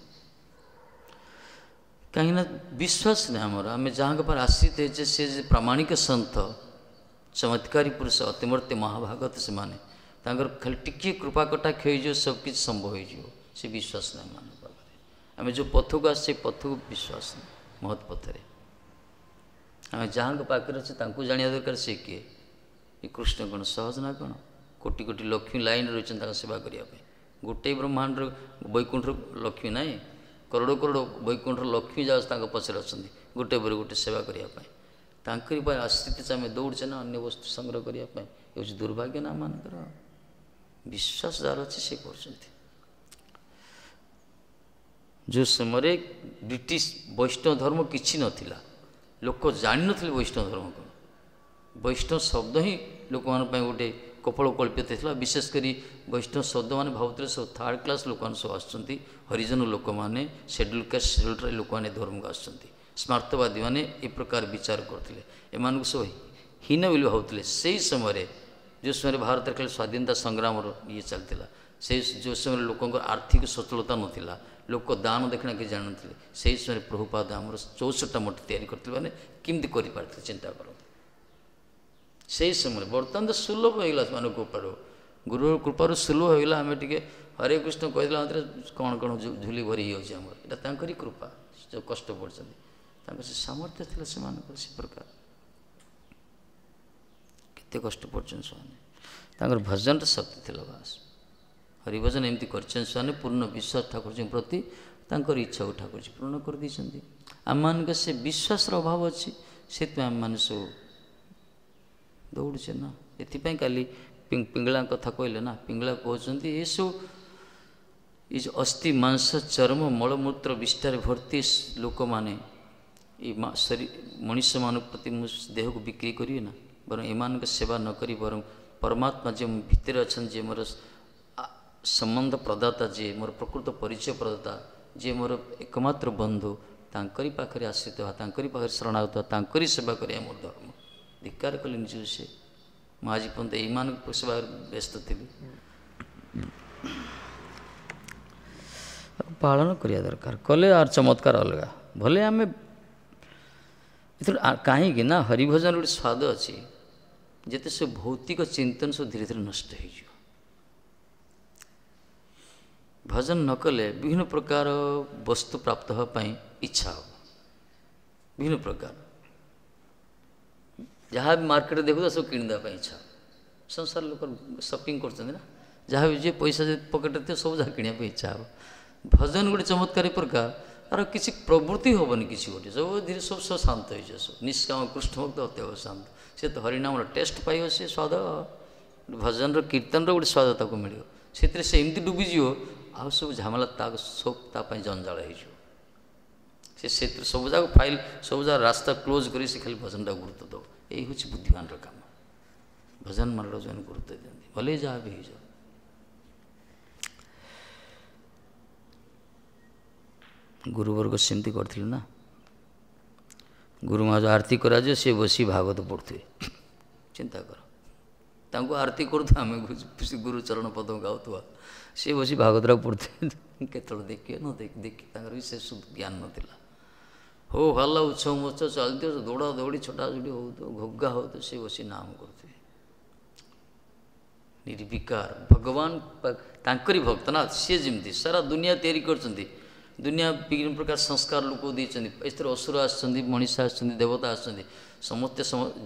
କାହିଁକିନା ବିଶ୍ୱାସ ନାହିଁ ଆମର। ଆମେ ଯାହାଙ୍କ ପାଖରେ ଆଶ୍ରିତ ହେଇଛେ ସେ ଯେ ପ୍ରାମାଣିକ ସନ୍ଥ, ଚମତ୍କାରୀ ପୁରୁଷ, ଅତିମୂର୍ତ୍ତି ମହାଭାଗତ, ସେମାନେ ତାଙ୍କର ଖାଲି ଟିକିଏ କୃପା କଟାକ୍ଷ ହେଇଯିବ, ସବୁ କିଛି ସମ୍ଭବ ହେଇଯିବ। ସେ ବିଶ୍ୱାସ ନାହିଁ ଆମମାନଙ୍କ ପାଖରେ। ଆମେ ଯେଉଁ ପଥକୁ ଆସୁଛେ ସେ ପଥକୁ ବିଶ୍ୱାସ ନାହିଁ, ମହତ୍ ପଥରେ। ଆମେ ଯାହାଙ୍କ ପାଖରେ ଅଛେ ତାଙ୍କୁ ଜାଣିବା ଦରକାର ସେ କିଏ। ଏ କୃଷ୍ଣ କ'ଣ ସହଜ ନା କ'ଣ? କୋଟି କୋଟି ଲକ୍ଷ୍ମୀ ଲାଇନ୍ରେ ରହିଛନ୍ତି ତାଙ୍କ ସେବା କରିବା ପାଇଁ। ଗୋଟେ ବ୍ରହ୍ମାଣ୍ଡର ବୈକୁଣ୍ଠର ଲକ୍ଷ୍ମୀ ନାହିଁ, କରୋଡ଼ କରୋଡ଼ ବୈକୁଣ୍ଠର ଲକ୍ଷ୍ମୀ ଯାଉ ତାଙ୍କ ପଛରେ ଅଛନ୍ତି ଗୋଟେ ପରେ ଗୋଟେ ସେବା କରିବା ପାଇଁ। ତାଙ୍କରି ପାଇଁ ଆଶ୍ରିତ ଆମେ ଦୌଡ଼ୁଛେ ନା ଅନ୍ୟ ବସ୍ତୁ ସଂଗ୍ରହ କରିବା ପାଇଁ। ଏ ହେଉଛି ଦୁର୍ଭାଗ୍ୟ ନା ଆମମାନଙ୍କର। ବିଶ୍ୱାସ ଯାହାର ଅଛି ସେ କରୁଛନ୍ତି। ଯେଉଁ ସମୟରେ ବ୍ରିଟିଶ ବୈଷ୍ଣବ ଧର୍ମ କିଛି ନଥିଲା, ଲୋକ ଜାଣିନଥିଲେ ବୈଷ୍ଣବ ଧର୍ମ କ'ଣ। ବୈଷ୍ଣବ ଶବ୍ଦ ହିଁ ଲୋକମାନଙ୍କ ପାଇଁ ଗୋଟେ କପୋଳ କଳ୍ପିତ ଥିଲା। ବିଶେଷ କରି ବୈଷ୍ଣବ ଶବ୍ଦ ମାନେ ଭାବୁଥିଲେ ସବୁ ଥାର୍ଡ଼ କ୍ଲାସ୍ ଲୋକମାନେ ସବୁ ଆସୁଛନ୍ତି, ହରିଜନ ଲୋକମାନେ, ସେଡ୍ୟୁଲ୍ କାଷ୍ଟ ସେଡ୍ୟୁଲ୍ ଟ୍ରାଇବ୍ ଲୋକମାନେ ଧର୍ମକୁ ଆସୁଛନ୍ତି। ସ୍ମାର୍ତ୍ତବାଦୀମାନେ ଏ ପ୍ରକାର ବିଚାର କରୁଥିଲେ, ଏମାନଙ୍କୁ ସବୁ ହୀନ ବୋଲି ଭାବୁଥିଲେ। ସେଇ ସମୟରେ ଯେଉଁ ସମୟରେ ଭାରତରେ ଖାଲି ସ୍ୱାଧୀନତା ସଂଗ୍ରାମର ଇଏ ଚାଲିଥିଲା, ସେଇ ଯେଉଁ ସମୟରେ ଲୋକଙ୍କର ଆର୍ଥିକ ସଚଳତା ନଥିଲା, ଲୋକ ଦାନ ଦକ୍ଷିଣା କିଛି ଜାଣିନଥିଲେ, ସେଇ ସମୟରେ ପ୍ରଭୁପାଦ ଆମର 64ଟା ମଠ ତିଆରି କରିଥିଲେ। ମାନେ କେମିତି କରିପାରିଥିଲେ ଚିନ୍ତା କରନ୍ତୁ ସେଇ ସମୟରେ। ବର୍ତ୍ତମାନ ତ ସୁଲଭ ହେଇଗଲା ସେମାନଙ୍କ କୃପାରୁ, ଗୁରୁ କୃପାରୁ ସୁଲଭ ହେଇଗଲା। ଆମେ ଟିକେ ହରେ କୃଷ୍ଣ କହିଦେଲା ମାତ୍ରେ କ'ଣ କ'ଣ ଝୁଲି ଭରି ହେଇଯାଉଛି ଆମର। ଏଇଟା ତାଙ୍କରି କୃପା, ଯେଉଁ କଷ୍ଟ ପଡ଼ୁଛନ୍ତି ତାଙ୍କର ସେ ସାମର୍ଥ୍ୟ ଥିଲା ସେମାନଙ୍କର ସେ ପ୍ରକାର। କେତେ କଷ୍ଟ ପଡ଼ୁଛନ୍ତି ସେମାନେ, ତାଙ୍କର ଭଜନର ଶକ୍ତି ଥିଲା ବାସ୍। ହରିଭଜନ ଏମିତି କରିଛନ୍ତି ସେମାନେ, ପୂର୍ଣ୍ଣ ବିଶ୍ୱାସ ଠାକୁରଜୀଙ୍କ ପ୍ରତି, ତାଙ୍କର ଇଚ୍ଛାକୁ ଠାକୁରଜୀ ପୂରଣ କରିଦେଇଛନ୍ତି। ଆମମାନଙ୍କ ସେ ବିଶ୍ୱାସର ଅଭାବ ଅଛି, ସେଥିପାଇଁ ଆମମାନେ ସବୁ ଦୌଡ଼ୁଛେ ନା। ଏଥିପାଇଁ କାଲି ପିଙ୍ଗଳାଙ୍କ କଥା କହିଲେ ନା, ପିଙ୍ଗଳା କହୁଛନ୍ତି ଏସବୁ ଏ ଯେଉଁ ଅସ୍ଥି ମାଂସ ଚର୍ମ ମଳମୂତ୍ର ବିଷ୍ଠାରେ ଭର୍ତ୍ତି ଲୋକମାନେ ଏ ମଣିଷମାନଙ୍କ ପ୍ରତି ମୁଁ ଦେହକୁ ବିକ୍ରି କରିବି ନା, ବରଂ ଏମାନଙ୍କ ସେବା ନ କରି ବରଂ ପରମାତ୍ମା ଯେ ଭିତରେ ଅଛନ୍ତି, ଯିଏ ମୋର ସମ୍ବନ୍ଧ ପ୍ରଦାତା, ଯିଏ ମୋର ପ୍ରକୃତ ପରିଚୟ ପ୍ରଦାତା, ଯିଏ ମୋର ଏକମାତ୍ର ବନ୍ଧୁ, ତାଙ୍କରି ପାଖରେ ଆଶ୍ରିତ ହେବା, ତାଙ୍କରି ପାଖରେ ଶରଣାଗତ ହେବା, ତାଙ୍କରି ସେବା କରିବା ମୋର ଧର୍ମ। ଧିକ୍କାର କଲେ ନିଜକୁ ସେ, ମୁଁ ଆଜି ପର୍ଯ୍ୟନ୍ତ ଏଇମାନଙ୍କ ସେବାରେ ବ୍ୟସ୍ତ ଥିଲି। ପାଳନ କରିବା ଦରକାର, କଲେ ଆର ଚମତ୍କାର ଅଲଗା। ଭଲେ ଆମେ ଏଥିରୁ କାହିଁକି ନା ହରିଭଜନ ଗୋଟେ ସ୍ୱାଦ ଅଛି, ଯେତେ ସବୁ ଭୌତିକ ଚିନ୍ତନ ସବୁ ଧୀରେ ଧୀରେ ନଷ୍ଟ ହେଇଯିବ। ଭଜନ ନ କଲେ ବିଭିନ୍ନ ପ୍ରକାର ବସ୍ତୁ ପ୍ରାପ୍ତ ହେବା ପାଇଁ ଇଚ୍ଛା ହେବ, ବିଭିନ୍ନ ପ୍ରକାର ଯାହା ବି ମାର୍କେଟରେ ଦେଖୁଥିବ ସବୁ କିଣିଦେବା ପାଇଁ ଇଚ୍ଛା ହେବ। ସଂସାର ଲୋକ ସପିଂ କରୁଛନ୍ତି ନା, ଯାହା ବି ଯିଏ ପଇସା ଯଦି ପକେଟରେ ଥିବ ସବୁ ଯାହା କିଣିବା ପାଇଁ ଇଚ୍ଛା ହେବ। ଭଜନ ଗୋଟେ ଚମତ୍କାରୀ ପ୍ରକାର, ତାର କିଛି ପ୍ରବୃତ୍ତି ହେବନି, କିଛି ଗୋଟେ ସବୁ ଧୀରେ ସବୁ ସବୁ ଶାନ୍ତ ହେଇଯିବ। ସବୁ ନିଷ୍କାମ କୃଷ୍ଣ ଭକ୍ତ ଅତ୍ୟବ ଶାନ୍ତ, ସେ ତ ହରିନାମର ଟେଷ୍ଟ ପାଇବ, ସେ ସ୍ୱାଦ ଭଜନର କୀର୍ତ୍ତନର ଗୋଟେ ସ୍ୱାଦ ତାକୁ ମିଳିବ। ସେଥିରେ ସେ ଏମିତି ଡୁବିଯିବ, ଆଉ ସବୁ ଝାମେଲା ତା ସବୁ ତା ପାଇଁ ଜଞ୍ଜାଳ ହେଇଯିବ। ସେ ସେଥିରେ ସବୁ ଯାକ ଫାଇଲ୍ ସବୁ ଯାକ ରାସ୍ତା କ୍ଲୋଜ୍ କରି ସେ ଖାଲି ଭଜନଟାକୁ ଗୁରୁତ୍ୱ ଦେବ। ଏଇ ହେଉଛି ବୁଦ୍ଧିମାନର କାମ, ଭଜନ ମାର୍ଗ ଯେଉଁମାନେ ଗୁରୁତ୍ୱ ଦିଅନ୍ତି, ଭଲେ ଯାହା ବି ହେଇଯାଉ। ଗୁରୁବର୍ଗ ସେମିତି କରିଥିଲେ ନା, ଗୁରୁ ମହାରାଜ ଆରତି କରାଯିବ, ସେ ବସି ଭାଗବତ ପଢ଼ୁଥିବେ। ଚିନ୍ତା କର, ତାଙ୍କୁ ଆରତି କରୁଥିବା, ଆମେ ଗୁରୁ ଚରଣ ପଦ୍ମ ଗାଉଥିବା, ସେ ବସି ଭାଗବତଟାକୁ ପଢ଼ୁଥିବେ। କେତେବେଳେ ଦେଖିବେ ନ ଦେଖି ତାଙ୍କର ବି ସେ ଜ୍ଞାନ ନଥିଲା। ହଉ ଭଲ ଉତ୍ସବ ମହୋତ୍ସବ ଚାଲିଥିବ, ଦୌଡ଼ା ଦୌଡ଼ି ଛଟାଛୁଟି ହେଉଥିବ, ଘୋଗା ହେଉଥିବ, ସେ ବସି ନାମ କରୁଥିବେ ନିର୍ବିକାର। ଭଗବାନ ତାଙ୍କରି ଭକ୍ତ ନା, ସିଏ ଯେମିତି ସାରା ଦୁନିଆ ତିଆରି କରିଛନ୍ତି, ଦୁନିଆ ବିଭିନ୍ନ ପ୍ରକାର ସଂସ୍କାର ଲୋକ ଦେଇଛନ୍ତି, ଏଥିରେ ଅସୁର ଆସିଛନ୍ତି, ମଣିଷ ଆସିଛନ୍ତି, ଦେବତା ଆସିଛନ୍ତି, ସମସ୍ତେ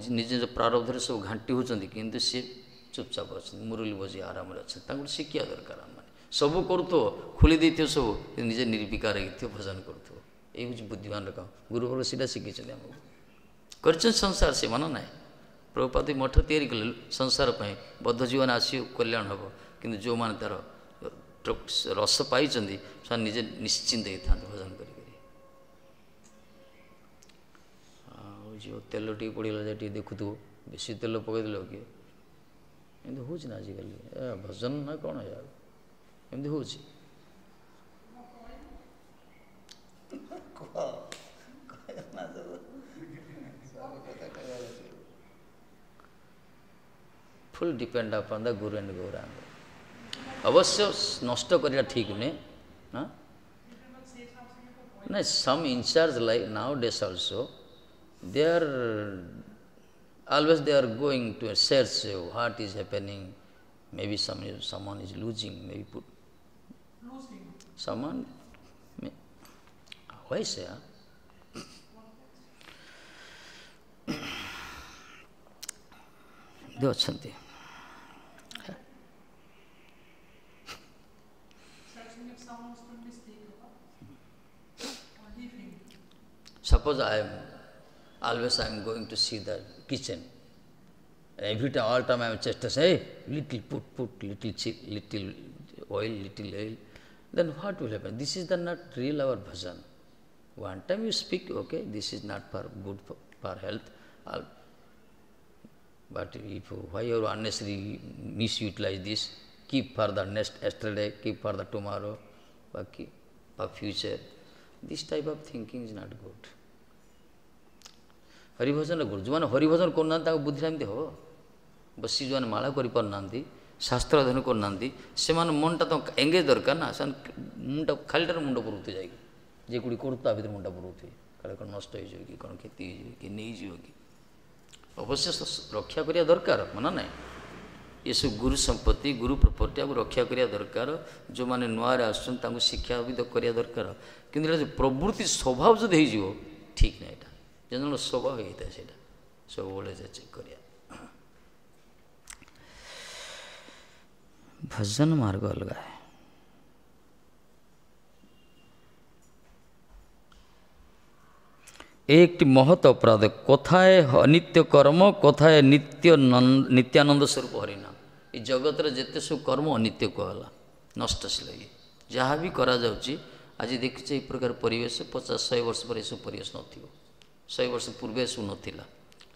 ନିଜ ନିଜ ପ୍ରାରବ୍ଧରେ ସବୁ ଘାଣ୍ଟି ହେଉଛନ୍ତି, କିନ୍ତୁ ସିଏ ଚୁପଚାପ ଅଛନ୍ତି, ମୁରଲି ବଜେଇ ଆରାମରେ ଅଛନ୍ତି। ତାଙ୍କୁ ଶିଖିବା ଦରକାର। ଆମମାନେ ସବୁ କରୁଥିବ, ଖୋଲି ଦେଇଥିବ ସବୁ, ନିଜେ ନିର୍ବିକାର ହେଇଥିବ, ଭଜନ କରୁଥିବ। ଏଇ ହେଉଛି ବୁଦ୍ଧିମାନର କାମ। ଗୁରୁବର୍ଗ ସେଇଟା ଶିଖିଛନ୍ତି ଆମକୁ, କରିଛନ୍ତି ସଂସାର ସେ ମନ ନାହିଁ। ପ୍ରଭୁପାଦ ମଠ ତିଆରି କଲେ ସଂସାର ପାଇଁ, ବଦ୍ଧ ଜୀବନ ଆସିବ କଲ୍ୟାଣ ହେବ, କିନ୍ତୁ ଯେଉଁମାନେ ତା'ର ରସ ପାଇଛନ୍ତି ସେମାନେ ନିଜେ ନିଶ୍ଚିନ୍ତ ହେଇଥାନ୍ତି ଭଜନ କରି କରି। ଆଉ ଯେଉଁ ତେଲ ଟିକେ ପଡ଼ିଗଲା ଯାଏ ଟିକେ ଦେଖୁଥିବ, ବେଶୀ ତେଲ ପକାଇଦେଲ କିଏ, ଏମିତି ହେଉଛି ନା ଆଜିକାଲି? ଏ ଭଜନ ନା କ'ଣ ଏମିତି ହେଉଛି? Full depend upon the guru and Gauranga. ଅବଶ୍ୟ ନଷ୍ଟ କରିବା ଠିକ୍ ନୁହେଁ ନା। ନାଇଁ, some in-charge like nowadays also they are always they are going to search what is happening. Maybe someone is losing, maybe put losing someone may, why say huh? ଅଛନ୍ତି Suppose I am always I am going to see the kitchen. And every time, all time I am just to say, hey, little put, little chip, little oil, little oil. Then what will happen? This is the not real our bhajan. One time you speak, okay, this is not for good for health. But if why you unnecessarily misutilize this, keep for the next yesterday, keep for the tomorrow, for future. This type of thinking is not good. Haribhajan ଗୁରୁ ଯେଉଁମାନେ ହରିଭଜନ କରୁନାହାନ୍ତି ତାଙ୍କ ବୁଦ୍ଧିଟା ଏମିତି ହେବ। ବସି ଯେଉଁମାନେ ମାଳା କରିପାରୁନାହାନ୍ତି, ଶାସ୍ତ୍ର ଅଧ୍ୟୟନ କରୁନାହାନ୍ତି, ସେମାନେ ମନଟା ତ ଏଙ୍ଗେଜ୍ ଦରକାର ନା। ସେମାନେ ମୁଣ୍ଡ ଖାଲିଟାରେ ମୁଣ୍ଡ ପୁରଉଥିବେ ଯାଇକି, ଯେକୁଡ଼ି କରୁ ତା ଭିତରେ ମୁଣ୍ଡ ପୁରଉଥିବେ, କାଳେ କ'ଣ ନଷ୍ଟ ହେଇଯିବ କି, କ'ଣ କ୍ଷତି ହେଇଯିବ କି, ନେଇଯିବ କି। ଅବଶ୍ୟ ରକ୍ଷା କରିବା ଦରକାର, ମନା ନାହିଁ। ଏସବୁ ଗୁରୁ ସମ୍ପତ୍ତି, ଗୁରୁ ପ୍ରପର୍ଟି ଆକୁ ରକ୍ଷା କରିବା ଦରକାର। ଯେଉଁମାନେ ନୂଆରେ ଆସୁଛନ୍ତି ତାଙ୍କୁ ଶିକ୍ଷା ବି କରିବା ଦରକାର। କିନ୍ତୁ ଏଇଟା ଯେଉଁ ପ୍ରବୃତ୍ତି ସ୍ୱଭାବ ଯଦି ହେଇଯିବ ଠିକ୍ ନାହିଁ। ଏଇଟା ଜଣେ ଜଣ ସ୍ୱଭାବ ହେଇଥାଏ, ସେଇଟା ସବୁବେଳେ ଚେକ୍ କରିବା। ଭଜନ ମାର୍ଗ ଅଲଗା। একটি মহৎ অপরাধ। কোথায় অনিত্য কর্ম, কোথায় নিত্য নিত্যানন্দ ସ୍ୱରୂପ ହରିନାମ। ଏ ଜଗତରେ ଯେତେ ସବୁ କର୍ମ ଅନିତ୍ୟ କୁହାଗଲା, ନଷ୍ଟଶୀଳ। ଇଏ ଯାହା ବି କରାଯାଉଛି ଆଜି ଦେଖୁଛେ ଏଇ ପ୍ରକାର ପରିବେଶ, 50-100 ବର୍ଷ ପରେ ଏସବୁ ପରିବେଶ ନଥିବ, 100 ବର୍ଷ ପୂର୍ବେ ଏସବୁ ନଥିଲା।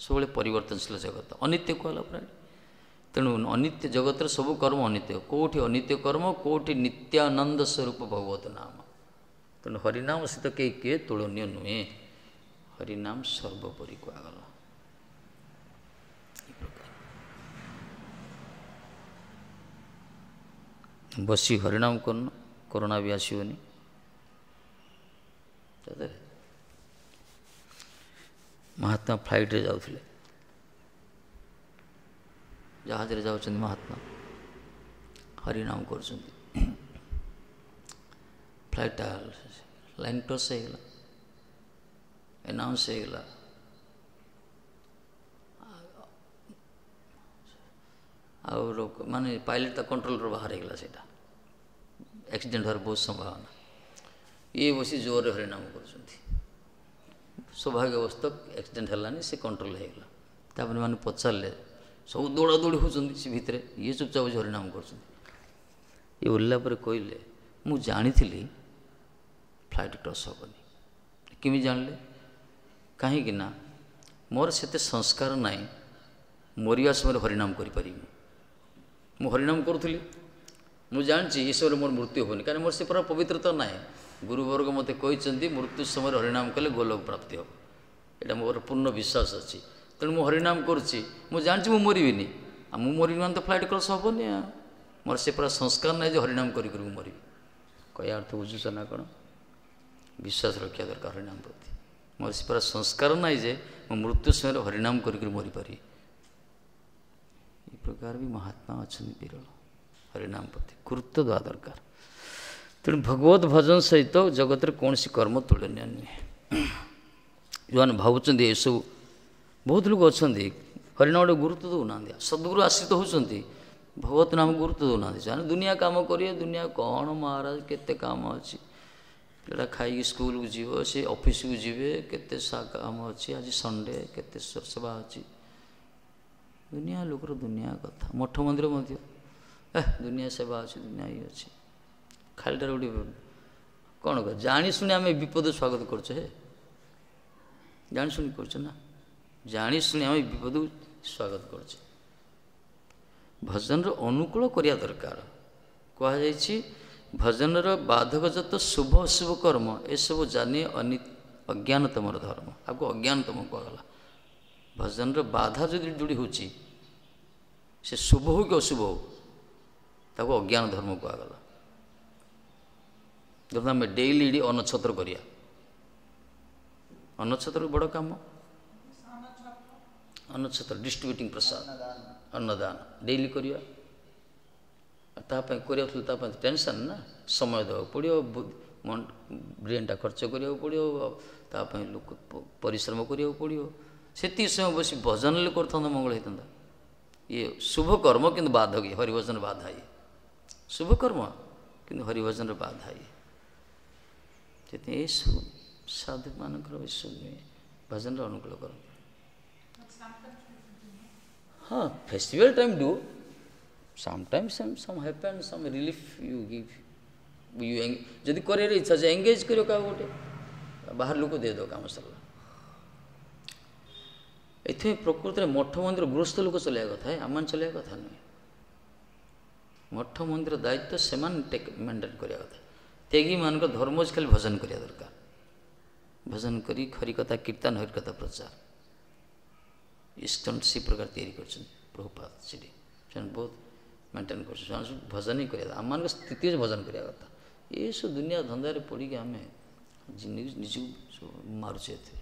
ସବୁବେଳେ ପରିବର୍ତ୍ତନଶୀଳ ଜଗତ, ଅନିତ୍ୟ କୁହାଗଲା ପୁରା। ତେଣୁ ଅନିତ୍ୟ ଜଗତରେ ସବୁ କର୍ମ ଅନିତ୍ୟ। କେଉଁଠି ଅନିତ୍ୟ କର୍ମ, କେଉଁଠି ନିତ୍ୟାନନ୍ଦ ସ୍ୱରୂପ ଭଗବତ ନାମ। ତେଣୁ ହରିନାମ ସହିତ କେହି କିଏ ତୁଳନୀୟ ନୁହେଁ। ହରିନାମ ସର୍ବୋପରି କୁହାଗଲା। ବସି ହରିନାମ କରୁନ, କରୋନା ବି ଆସିବନି। ମହାତ୍ମା ଫ୍ଲାଇଟ୍ରେ ଯାଉଥିଲେ, ଜାହାଜରେ ଯାଉଛନ୍ତି ମହାତ୍ମା, ହରିନାମ କରୁଛନ୍ତି। ଫ୍ଲାଇଟ୍ଟା ଲାଇନ୍ କ୍ରସ୍ ହେଇଗଲା, ଆନାଉନ୍ସ ହେଇଗଲା। ଆଉ ଲୋକ ମାନେ ପାଇଲଟ୍ ତା କଣ୍ଟ୍ରୋଲରୁ ବାହାର ହେଇଗଲା, ସେଇଟା ଆକ୍ସିଡେଣ୍ଟ ହେବାର ବହୁତ ସମ୍ଭାବନା। ଇଏ ବସି ଜୋରରେ ହରିନାମ କରୁଛନ୍ତି। ସୌଭାଗ୍ୟବଶତଃ ଆକ୍ସିଡେଣ୍ଟ ହେଲାନି, ସେ କଣ୍ଟ୍ରୋଲ ହେଇଗଲା। ତାପରେ ମାନେ ପଚାରିଲେ, ସବୁ ଦୌଡ଼ା ଦୌଡ଼ି ହେଉଛନ୍ତି ସେ ଭିତରେ, ଇଏ ଚୁପଚାପ ବସି ହରିନାମ କରୁଛନ୍ତି। ଇଏ ଓହ୍ଲାଇଲା ପରେ କହିଲେ, ମୁଁ ଜାଣିଥିଲି ଫ୍ଲାଇଟ୍ କ୍ରସ୍ ହେବନି। କେମିତି ଜାଣିଲେ? କାହିଁକି ନା ମୋର ସେତେ ସଂସ୍କାର ନାହିଁ, ମରିବା ସମୟରେ ହରିନାମ କରିପାରିବି। ମୁଁ ହରିନାମ କରୁଥିଲି, ମୁଁ ଜାଣିଛି ଏ ସମୟରେ ମୋର ମୃତ୍ୟୁ ହେବନି, କାରଣ ମୋର ସେ ପୁରା ପବିତ୍ରତା ନାହିଁ। ଗୁରୁବର୍ଗ ମୋତେ କହିଛନ୍ତି ମୃତ୍ୟୁ ସମୟରେ ହରିନାମ କଲେ ଗୋଲୋକ ପ୍ରାପ୍ତି ହେବ, ଏଇଟା ମୋର ପୂର୍ଣ୍ଣ ବିଶ୍ୱାସ ଅଛି। ତେଣୁ ମୁଁ ହରିନାମ କରୁଛି, ମୁଁ ଜାଣିଛି ମୁଁ ମରିବିନି। ଆଉ ମୁଁ ମରିବିନି ମାନେ ତ ଫ୍ଲାଇଟ୍ କ୍ରସ୍ ହେବନି। ମୋର ସେ ପୁରା ସଂସ୍କାର ନାହିଁ ଯେ ହରିନାମ କରି କରି ମୁଁ ମରିବି। କହିବା ଅର୍ଥ ବୁଝୁଛ ନା କ'ଣ? ବିଶ୍ୱାସ ରଖିବା ଦରକାର ହରିନାମ ପ୍ରତି। ମୋର ସେ ପୁରା ସଂସ୍କାର ନାହିଁ ଯେ ମୁଁ ମୃତ୍ୟୁ ସମୟରେ ହରିନାମ କରିକରି ମରିପାରିବି। ଏ ପ୍ରକାର ବି ମହାତ୍ମା ଅଛନ୍ତି ବିରଳ। ହରିନାମ ପ୍ରତି ଗୁରୁତ୍ୱ ଦେବା ଦରକାର। ତେଣୁ ଭଗବତ ଭଜନ ସହିତ ଜଗତରେ କୌଣସି କର୍ମ ତୁଳନୀୟ ନୁହେଁ। ଯେଉଁମାନେ ଭାବୁଛନ୍ତି ଏସବୁ, ବହୁତ ଲୋକ ଅଛନ୍ତି ହରିନାମ ଗୋଟେ ଗୁରୁତ୍ୱ ଦେଉନାହାନ୍ତି, ସଦ୍ଗୁରୁ ଆଶ୍ରିତ ହେଉଛନ୍ତି, ଭଗବତ ନାମ ଗୁରୁତ୍ୱ ଦେଉନାହାନ୍ତି। ସେମାନେ ଦୁନିଆ କାମ କରିବେ, ଦୁନିଆ କ'ଣ ମହାରାଜ କେତେ କାମ ଅଛି, ପିଲାଟା ଖାଇକି ସ୍କୁଲକୁ ଯିବ, ସେ ଅଫିସକୁ ଯିବେ, କେତେ କାମ ଅଛି, ଆଜି ସଣ୍ଡେ, କେତେ ସେବା ଅଛି, ଦୁନିଆ ଲୋକର ଦୁନିଆ କଥା। ମଠ ମନ୍ଦିର ମଧ୍ୟ ଦୁନିଆ ସେବା ଅଛି, ଦୁନିଆ ଇଏ ଅଛି। ଖାଲିଟାରେ ଗୋଟେ କ'ଣ ଜାଣିଶୁଣି ଆମେ ବିପଦ ସ୍ୱାଗତ କରୁଛେ, ହେ ଜାଣିଶୁଣି କରୁଛେ ନା, ଜାଣିଶୁଣି ଆମେ ବିପଦକୁ ସ୍ୱାଗତ କରୁଛେ। ଭଜନର ଅନୁକୂଳ କରିବା ଦରକାର। କୁହାଯାଇଛି ଭଜନର ବାଧକ ଯତ ଶୁଭ ଅଶୁଭ କର୍ମ ଏସବୁ ଜାନି ଅଜ୍ଞାନ ତମର ଧର୍ମ। ଆକୁ ଅଜ୍ଞାନ ତମ କୁହାଗଲା। ଭଜନର ବାଧା ଯଦି ଯୋଡ଼ି ହେଉଛି, ସେ ଶୁଭ ହଉ କି ଅଶୁଭ ହଉ, ତାକୁ ଅଜ୍ଞାନ ଧର୍ମ କୁହାଗଲା। ଯଦି ଆମେ ଡେଇଲି ଏଠି ଅନ୍ନଛତ୍ର କରିବା, ଅନ୍ନଛତ୍ର ବଡ଼ କାମ, ଅନ୍ନଛତ୍ର ଡିଷ୍ଟ୍ରିବ୍ୟୁଟିଂ ପ୍ରସାଦ, ଅନ୍ନଦାନ ଡେଇଲି କରିବା, ତା ପାଇଁ କରିବାକୁ ତା ପାଇଁ ଟେନସନ୍ ନା, ସମୟ ଦେବାକୁ ପଡ଼ିବ, ବ୍ରେନ୍ଟା ଖର୍ଚ୍ଚ କରିବାକୁ ପଡ଼ିବ, ତା ପାଇଁ ଲୋକ ପରିଶ୍ରମ କରିବାକୁ ପଡ଼ିବ। ସେତିକି ସମୟ ବସି ଭଜନ ହେଲେ କରିଥାନ୍ତା, ମଙ୍ଗଳ ହେଇଥାନ୍ତା। ଇଏ ଶୁଭ କର୍ମ କିନ୍ତୁ ବାଧକ, ଇଏ ହରିଭଜନ ବାଧା। ଇଏ ଶୁଭ କର୍ମ କିନ୍ତୁ ହରିଭଜନର ବାଧା ଇଏ। ସେଥିପାଇଁ ଏସବୁ ସାଧୁମାନଙ୍କର ଏସବୁ ନୁହେଁ, ଭଜନର ଅନୁକୂଳ କରନ୍ତି। ହଁ, festival time do sometimes some happen, some relief you give, you ଯଦି କରିବାର ଇଚ୍ଛା ଅଛି ଏଙ୍ଗେଜ୍ କରିବ କାହାକୁ ଗୋଟେ, ବାହାର ଲୋକ ଦେଇଦେବ, କାମ ସରିଲା। ଏଥିପାଇଁ ପ୍ରକୃତରେ ମଠ ମନ୍ଦିର ଗୃହସ୍ଥ ଲୋକ ଚଲେଇବା କଥା, ଆମମାନେ ଚଲେଇବା କଥା ନୁହେଁ। ମଠ ମନ୍ଦିର ଦାୟିତ୍ୱ ସେମାନେ ଟେକ୍ ମେଣ୍ଟେନ୍ କରିବା କଥା। ତ୍ୟାଗୀମାନଙ୍କ ଧର୍ମ ଅଛି ଖାଲି ଭଜନ କରିବା ଦରକାର, ଭଜନ କରି ହରିକଥା କୀର୍ତ୍ତନ, ହରିକଥା ପ୍ରଚାର। ଇସ୍କନ ସେ ପ୍ରକାର ତିଆରି କରିଛନ୍ତି ପ୍ରଭୁପାଦ, ସେଠି ସେମାନେ ବହୁତ ମେଣ୍ଟେନ୍ କରୁଛନ୍ତି। ସେମାନେ ସବୁ ଭଜନ ହିଁ କରିବା, ଆମମାନଙ୍କ ସ୍ଥିତି ଅଛି ଭଜନ କରିବା କଥା। ଏସବୁ ଦୁନିଆ ଧନ୍ଦାରେ ପଡ଼ିକି ଆମେ ନିଜକୁ ସବୁ ମାରୁଛେ ଏଥିରେ।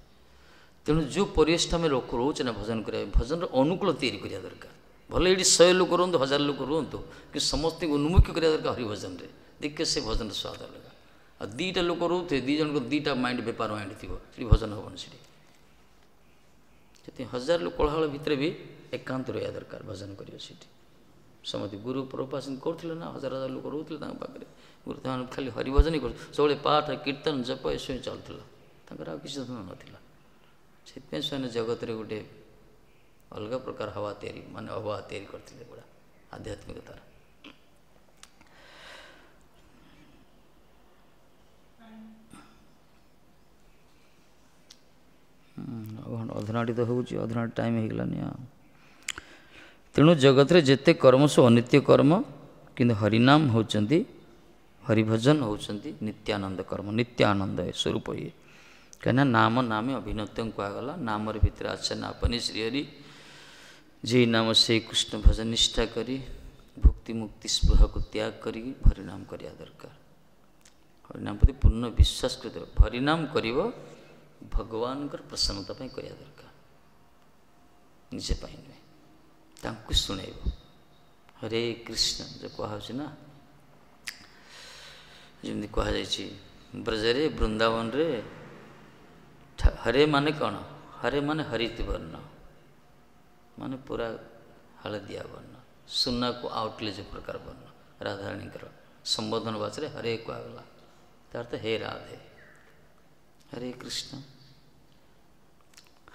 ତେଣୁ ଯେଉଁ ପରିବେଶଟା ଆମେ ରହୁଛେ ନା ଭଜନ କରିବା, ଭଜନର ଅନୁକୂଳ ତିଆରି କରିବା ଦରକାର। ଭଲ ଏଇଠି 100 ଲୋକ ରୁହନ୍ତୁ, 1000 ଲୋକ ରୁହନ୍ତୁ, କିନ୍ତୁ ସମସ୍ତଙ୍କୁ ଉନ୍ମୁଖ କରିବା ଦରକାର ହରିଭଜନରେ। ଦେଖିବେ ସେ ଭଜନର ସ୍ୱାଦ ଅଲଗା। ଆଉ 2ଟା ଲୋକ ରହୁଥିବେ, 2 ଜଣଙ୍କ 2ଟା ମାଇଣ୍ଡ, ବେପାର ମାଇଣ୍ଡ ଥିବ, ସେଠି ଭଜନ ହେବନି ସେଠି। ସେଥିପାଇଁ 1000 ଲୋକ କୋଳାହଳ ଭିତରେ ବି ଏକାନ୍ତ ରହିବା ଦରକାର, ଭଜନ କରିବ ସେଠି। ସମସ୍ତେ ଗୁରୁ ପ୍ରଭୁପାଦ କରୁଥିଲେ ନା, ହଜାର ହଜାର ଲୋକ ରହୁଥିଲେ ତାଙ୍କ ପାଖରେ। ଗୁରୁ ସେମାନେ ଖାଲି ହରିଭଜନ ହିଁ କରୁଥିଲେ, ସବୁବେଳେ ପାଠ କୀର୍ତ୍ତନ ଜପ ଏସବୁ ଚାଲୁଥିଲା, ତାଙ୍କର ଆଉ କିଛି ଧନ୍ଦା ନଥିଲା। ସେଥିପାଇଁ ସେମାନେ ଜଗତରେ ଗୋଟେ ଅଲଗା ପ୍ରକାର ହାୱା ତିଆରି, ମାନେ ଅବହା ତିଆରି କରିଥିଲେ ପୁରା ଆଧ୍ୟାତ୍ମିକତାର। ଅଧନାଟି ତ ହେଉଛି, ଅଧନାଟି ଟାଇମ୍ ହେଇଗଲାନି ଆଉ। ତେଣୁ ଜଗତରେ ଯେତେ କର୍ମ ସବୁ ଅନିତ୍ୟ କର୍ମ, କିନ୍ତୁ ହରିନାମ ହେଉଛନ୍ତି, ହରିଭଜନ ହେଉଛନ୍ତି ନିତ୍ୟାନନ୍ଦ କର୍ମ, ନିତ୍ୟାନନ୍ଦ ସ୍ୱରୂପ ଇଏ। କାହିଁକିନା ନାମ ନାମେ ଅଭିନତ୍ୟಂ କୁହାଗଲା, ନାମର ଭିତରେ ଆଛେ ନା ଆପନି ଶ୍ରୀହରି, ଯେ ନାମ ସେଇ କୃଷ୍ଣ ଭଜନ ନିଷ୍ଠା କରି ଭୁକ୍ତି ମୁକ୍ତି ସ୍ପୃହାକୁ ତ୍ୟାଗ କରିକି ହରିନାମ କରିବା ଦରକାର। ହରିନାମ ପ୍ରତି ପୂର୍ଣ୍ଣ ବିଶ୍ୱାସ କରିଦେବ, ହରିନାମ କରିବ ଭଗବାନଙ୍କର ପ୍ରସନ୍ନତା ପାଇଁ କରିବା ଦରକାର, ନିଜେ ପାଇଁ ନୁହେଁ। ତାଙ୍କୁ ଶୁଣେଇବ ହରେ କୃଷ୍ଣ ଯେଉଁ କୁହାହେଉଛି ନା, ଯେମିତି କୁହାଯାଇଛି ବ୍ରଜରେ ବୃନ୍ଦାବନରେ ହରେ ମାନେ କ'ଣ? ହରେ ମାନେ ହରିତ ବର୍ଣ୍ଣ, ମାନେ ପୁରା ହଳଦିଆ ବର୍ଣ୍ଣ, ସୁନାକୁ ଆଉଟଲେ ଯେଉଁ ପ୍ରକାର ବର୍ଣ୍ଣ। ରାଧାରାଣୀଙ୍କର ସମ୍ବୋଧନ ଭାଷାରେ ହରେ କୁହାଗଲା, ତାର ତ ହେ ରାଧେ, ହରେ କୃଷ୍ଣ।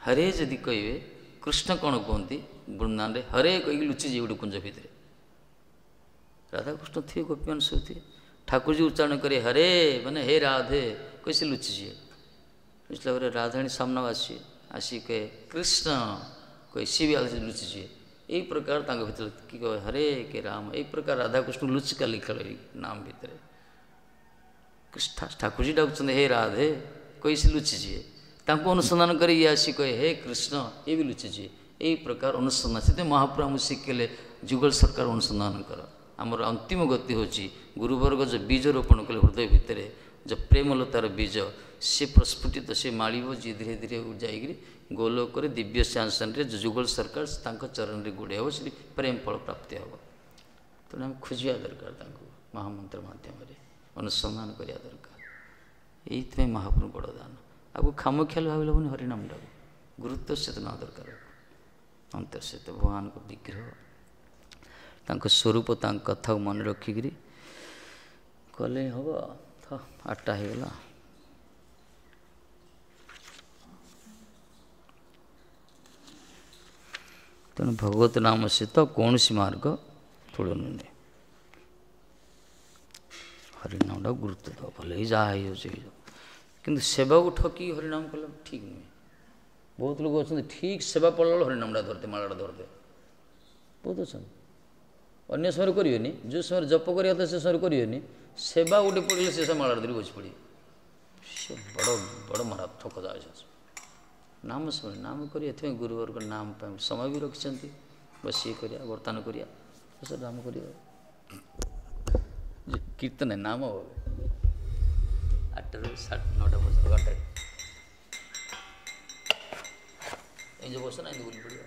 ହରେ ଯଦି କହିବେ, କୃଷ୍ଣ କ'ଣ କୁହନ୍ତି ବୃନ୍ଦାବନରେ? ହରେ କହିକି ଲୁଚିଯିବେ ଗୋଟେ କୁଞ୍ଜ ଭିତରେ, ରାଧାକୃଷ୍ଣ ଥିବେ, ଗୋପୀମାନେ ସବୁ ଥିବେ। ଠାକୁରଜୀ ଉଚ୍ଚାରଣ କରି ହରେ ମାନେ ହେ ରାଧେ କହି ସେ ଲୁଚିଯିବେ। ଲୁଚିଲା ପରେ ରାଧାରାଣୀ ସାମ୍ନାକୁ ଆସିବେ, ଆସିକି କହେ କୃଷ୍ଣ କହି ସିଏ ବି ଆଉ ଲୁଚିଯିବେ। ଏଇ ପ୍ରକାର ତାଙ୍କ ଭିତରେ କି କହେ ହରେ କେ ରାମ, ଏଇ ପ୍ରକାର ରାଧାକୃଷ୍ଣ ଲୁଚିକାଲି ଖେଳ ଏଇ ନାମ ଭିତରେ। ଠାକୁରଜୀ ଡାକୁଛନ୍ତି ହେ ରାଧେ କହି ସେ ଲୁଚିଯିବେ, ତାଙ୍କୁ ଅନୁସନ୍ଧାନ କରି ଇଏ ଆସି କହେ ହେ କୃଷ୍ଣ, ଇଏ ବି ଲୁଚିଯିବେ। ଏଇ ପ୍ରକାର ଅନୁସନ୍ଧାନ। ସେଥିପାଇଁ ମହାପ୍ରଭୁ ଆମକୁ ଶିଖିଲେ ଯୁଗଳ ସରକାର ଅନୁସନ୍ଧାନ କର। ଆମର ଅନ୍ତିମ ଗତି ହେଉଛି ଗୁରୁବର୍ଗ ଯେଉଁ ବୀଜ ରୋପଣ କଲେ ହୃଦୟ ଭିତରେ, ଯେଉଁ ପ୍ରେମଲତାର ବୀଜ, ସେ ପ୍ରସ୍ଫୁଟିତ, ସେ ମାଳିବ, ଯିଏ ଧୀରେ ଧୀରେ ଯାଇକରି ଗୋଲୋକରେ ଦିବ୍ୟ ସିଂହାସନରେ ଯେଉଁ ଯୁଗଳ ସରକାର ତାଙ୍କ ଚରଣରେ ଗୁଡ଼େଇ ହେବ, ସେଠି ପ୍ରେମ ଫଳ ପ୍ରାପ୍ତି ହେବ। ତେଣୁ ଆମେ ଖୋଜିବା ଦରକାର ତାଙ୍କୁ ମହାମନ୍ତ୍ର ମାଧ୍ୟମରେ, ଅନୁସନ୍ଧାନ କରିବା ଦରକାର। ଏଇଥିପାଇଁ ମହାପ୍ରଭୁ ବଡ଼ ଦାନ। ଆକୁ ଖାମଖିଆଲ ଭାବିଲେ ହେବନି, ହରିନାମଟାକୁ ଗୁରୁତ୍ୱ ସହିତ ନେବା ଦରକାର। ଅନ୍ତର ସହିତ ଭଗବାନଙ୍କ ବିଗ୍ରହ, ତାଙ୍କ ସ୍ୱରୂପ, ତାଙ୍କ କଥାକୁ ମନେ ରଖିକିରି କଲେ ହେବ। 8ଟା ହେଇଗଲା। ତେଣୁ ଭଗବତ ନାମ ସହିତ କୌଣସି ମାର୍ଗ ତୁଳନୀୟ ନୁହେଁ। ହରିନାମଟାକୁ ଗୁରୁତ୍ୱ ଦେବ, ଭଲେ ଯାହା ହେଇଯାଉଛି ହେଇଯାଉ, କିନ୍ତୁ ସେବାକୁ ଠକି ହରିନାମ କଲେ ଠିକ୍ ନୁହେଁ। ବହୁତ ଲୋକ ଅଛନ୍ତି ଠିକ୍ ସେବା ପଡ଼ିଲା ବେଳକୁ ହରିନାମଟା ଧରିଦେ, ମାଳାଟା ଧରିଦେ, ବହୁତ ଅଛନ୍ତି। ଅନ୍ୟ ସମୟରେ କରିବେନି, ଯେଉଁ ସମୟରେ ଜପ କରିବା କଥା ସେ ସମୟରେ କରିବେନି, ସେବା ଗୋଟେ ପଡ଼ିଲେ ସେ ସମୟ ମାଳାଟା ଧରି ବସି ପଡ଼ିବେ। ସେ ବଡ଼ ବଡ଼ ମହାରାଜ ଠକ ଯାଉଛି। ନାମ ଶୁଣି ନାମ କରି, ଏଥିପାଇଁ ଗୁରୁବର୍ଗ ନାମ ପାଇଁ ସମୟ ବି ରଖିଛନ୍ତି, ବସିକି କରିବା, ବର୍ତ୍ତମାନ କରିବା, ସେ ନାମ କରିବା, କୀର୍ତ୍ତନ ନାମ 8ରୁ 9:30 ପର୍ଯ୍ୟନ୍ତ, ଘଣ୍ଟାଏ ଏଇ ଯେଉଁ ବସ ନା, ଏମିତି ବୁଲି ପଡ଼ିବ।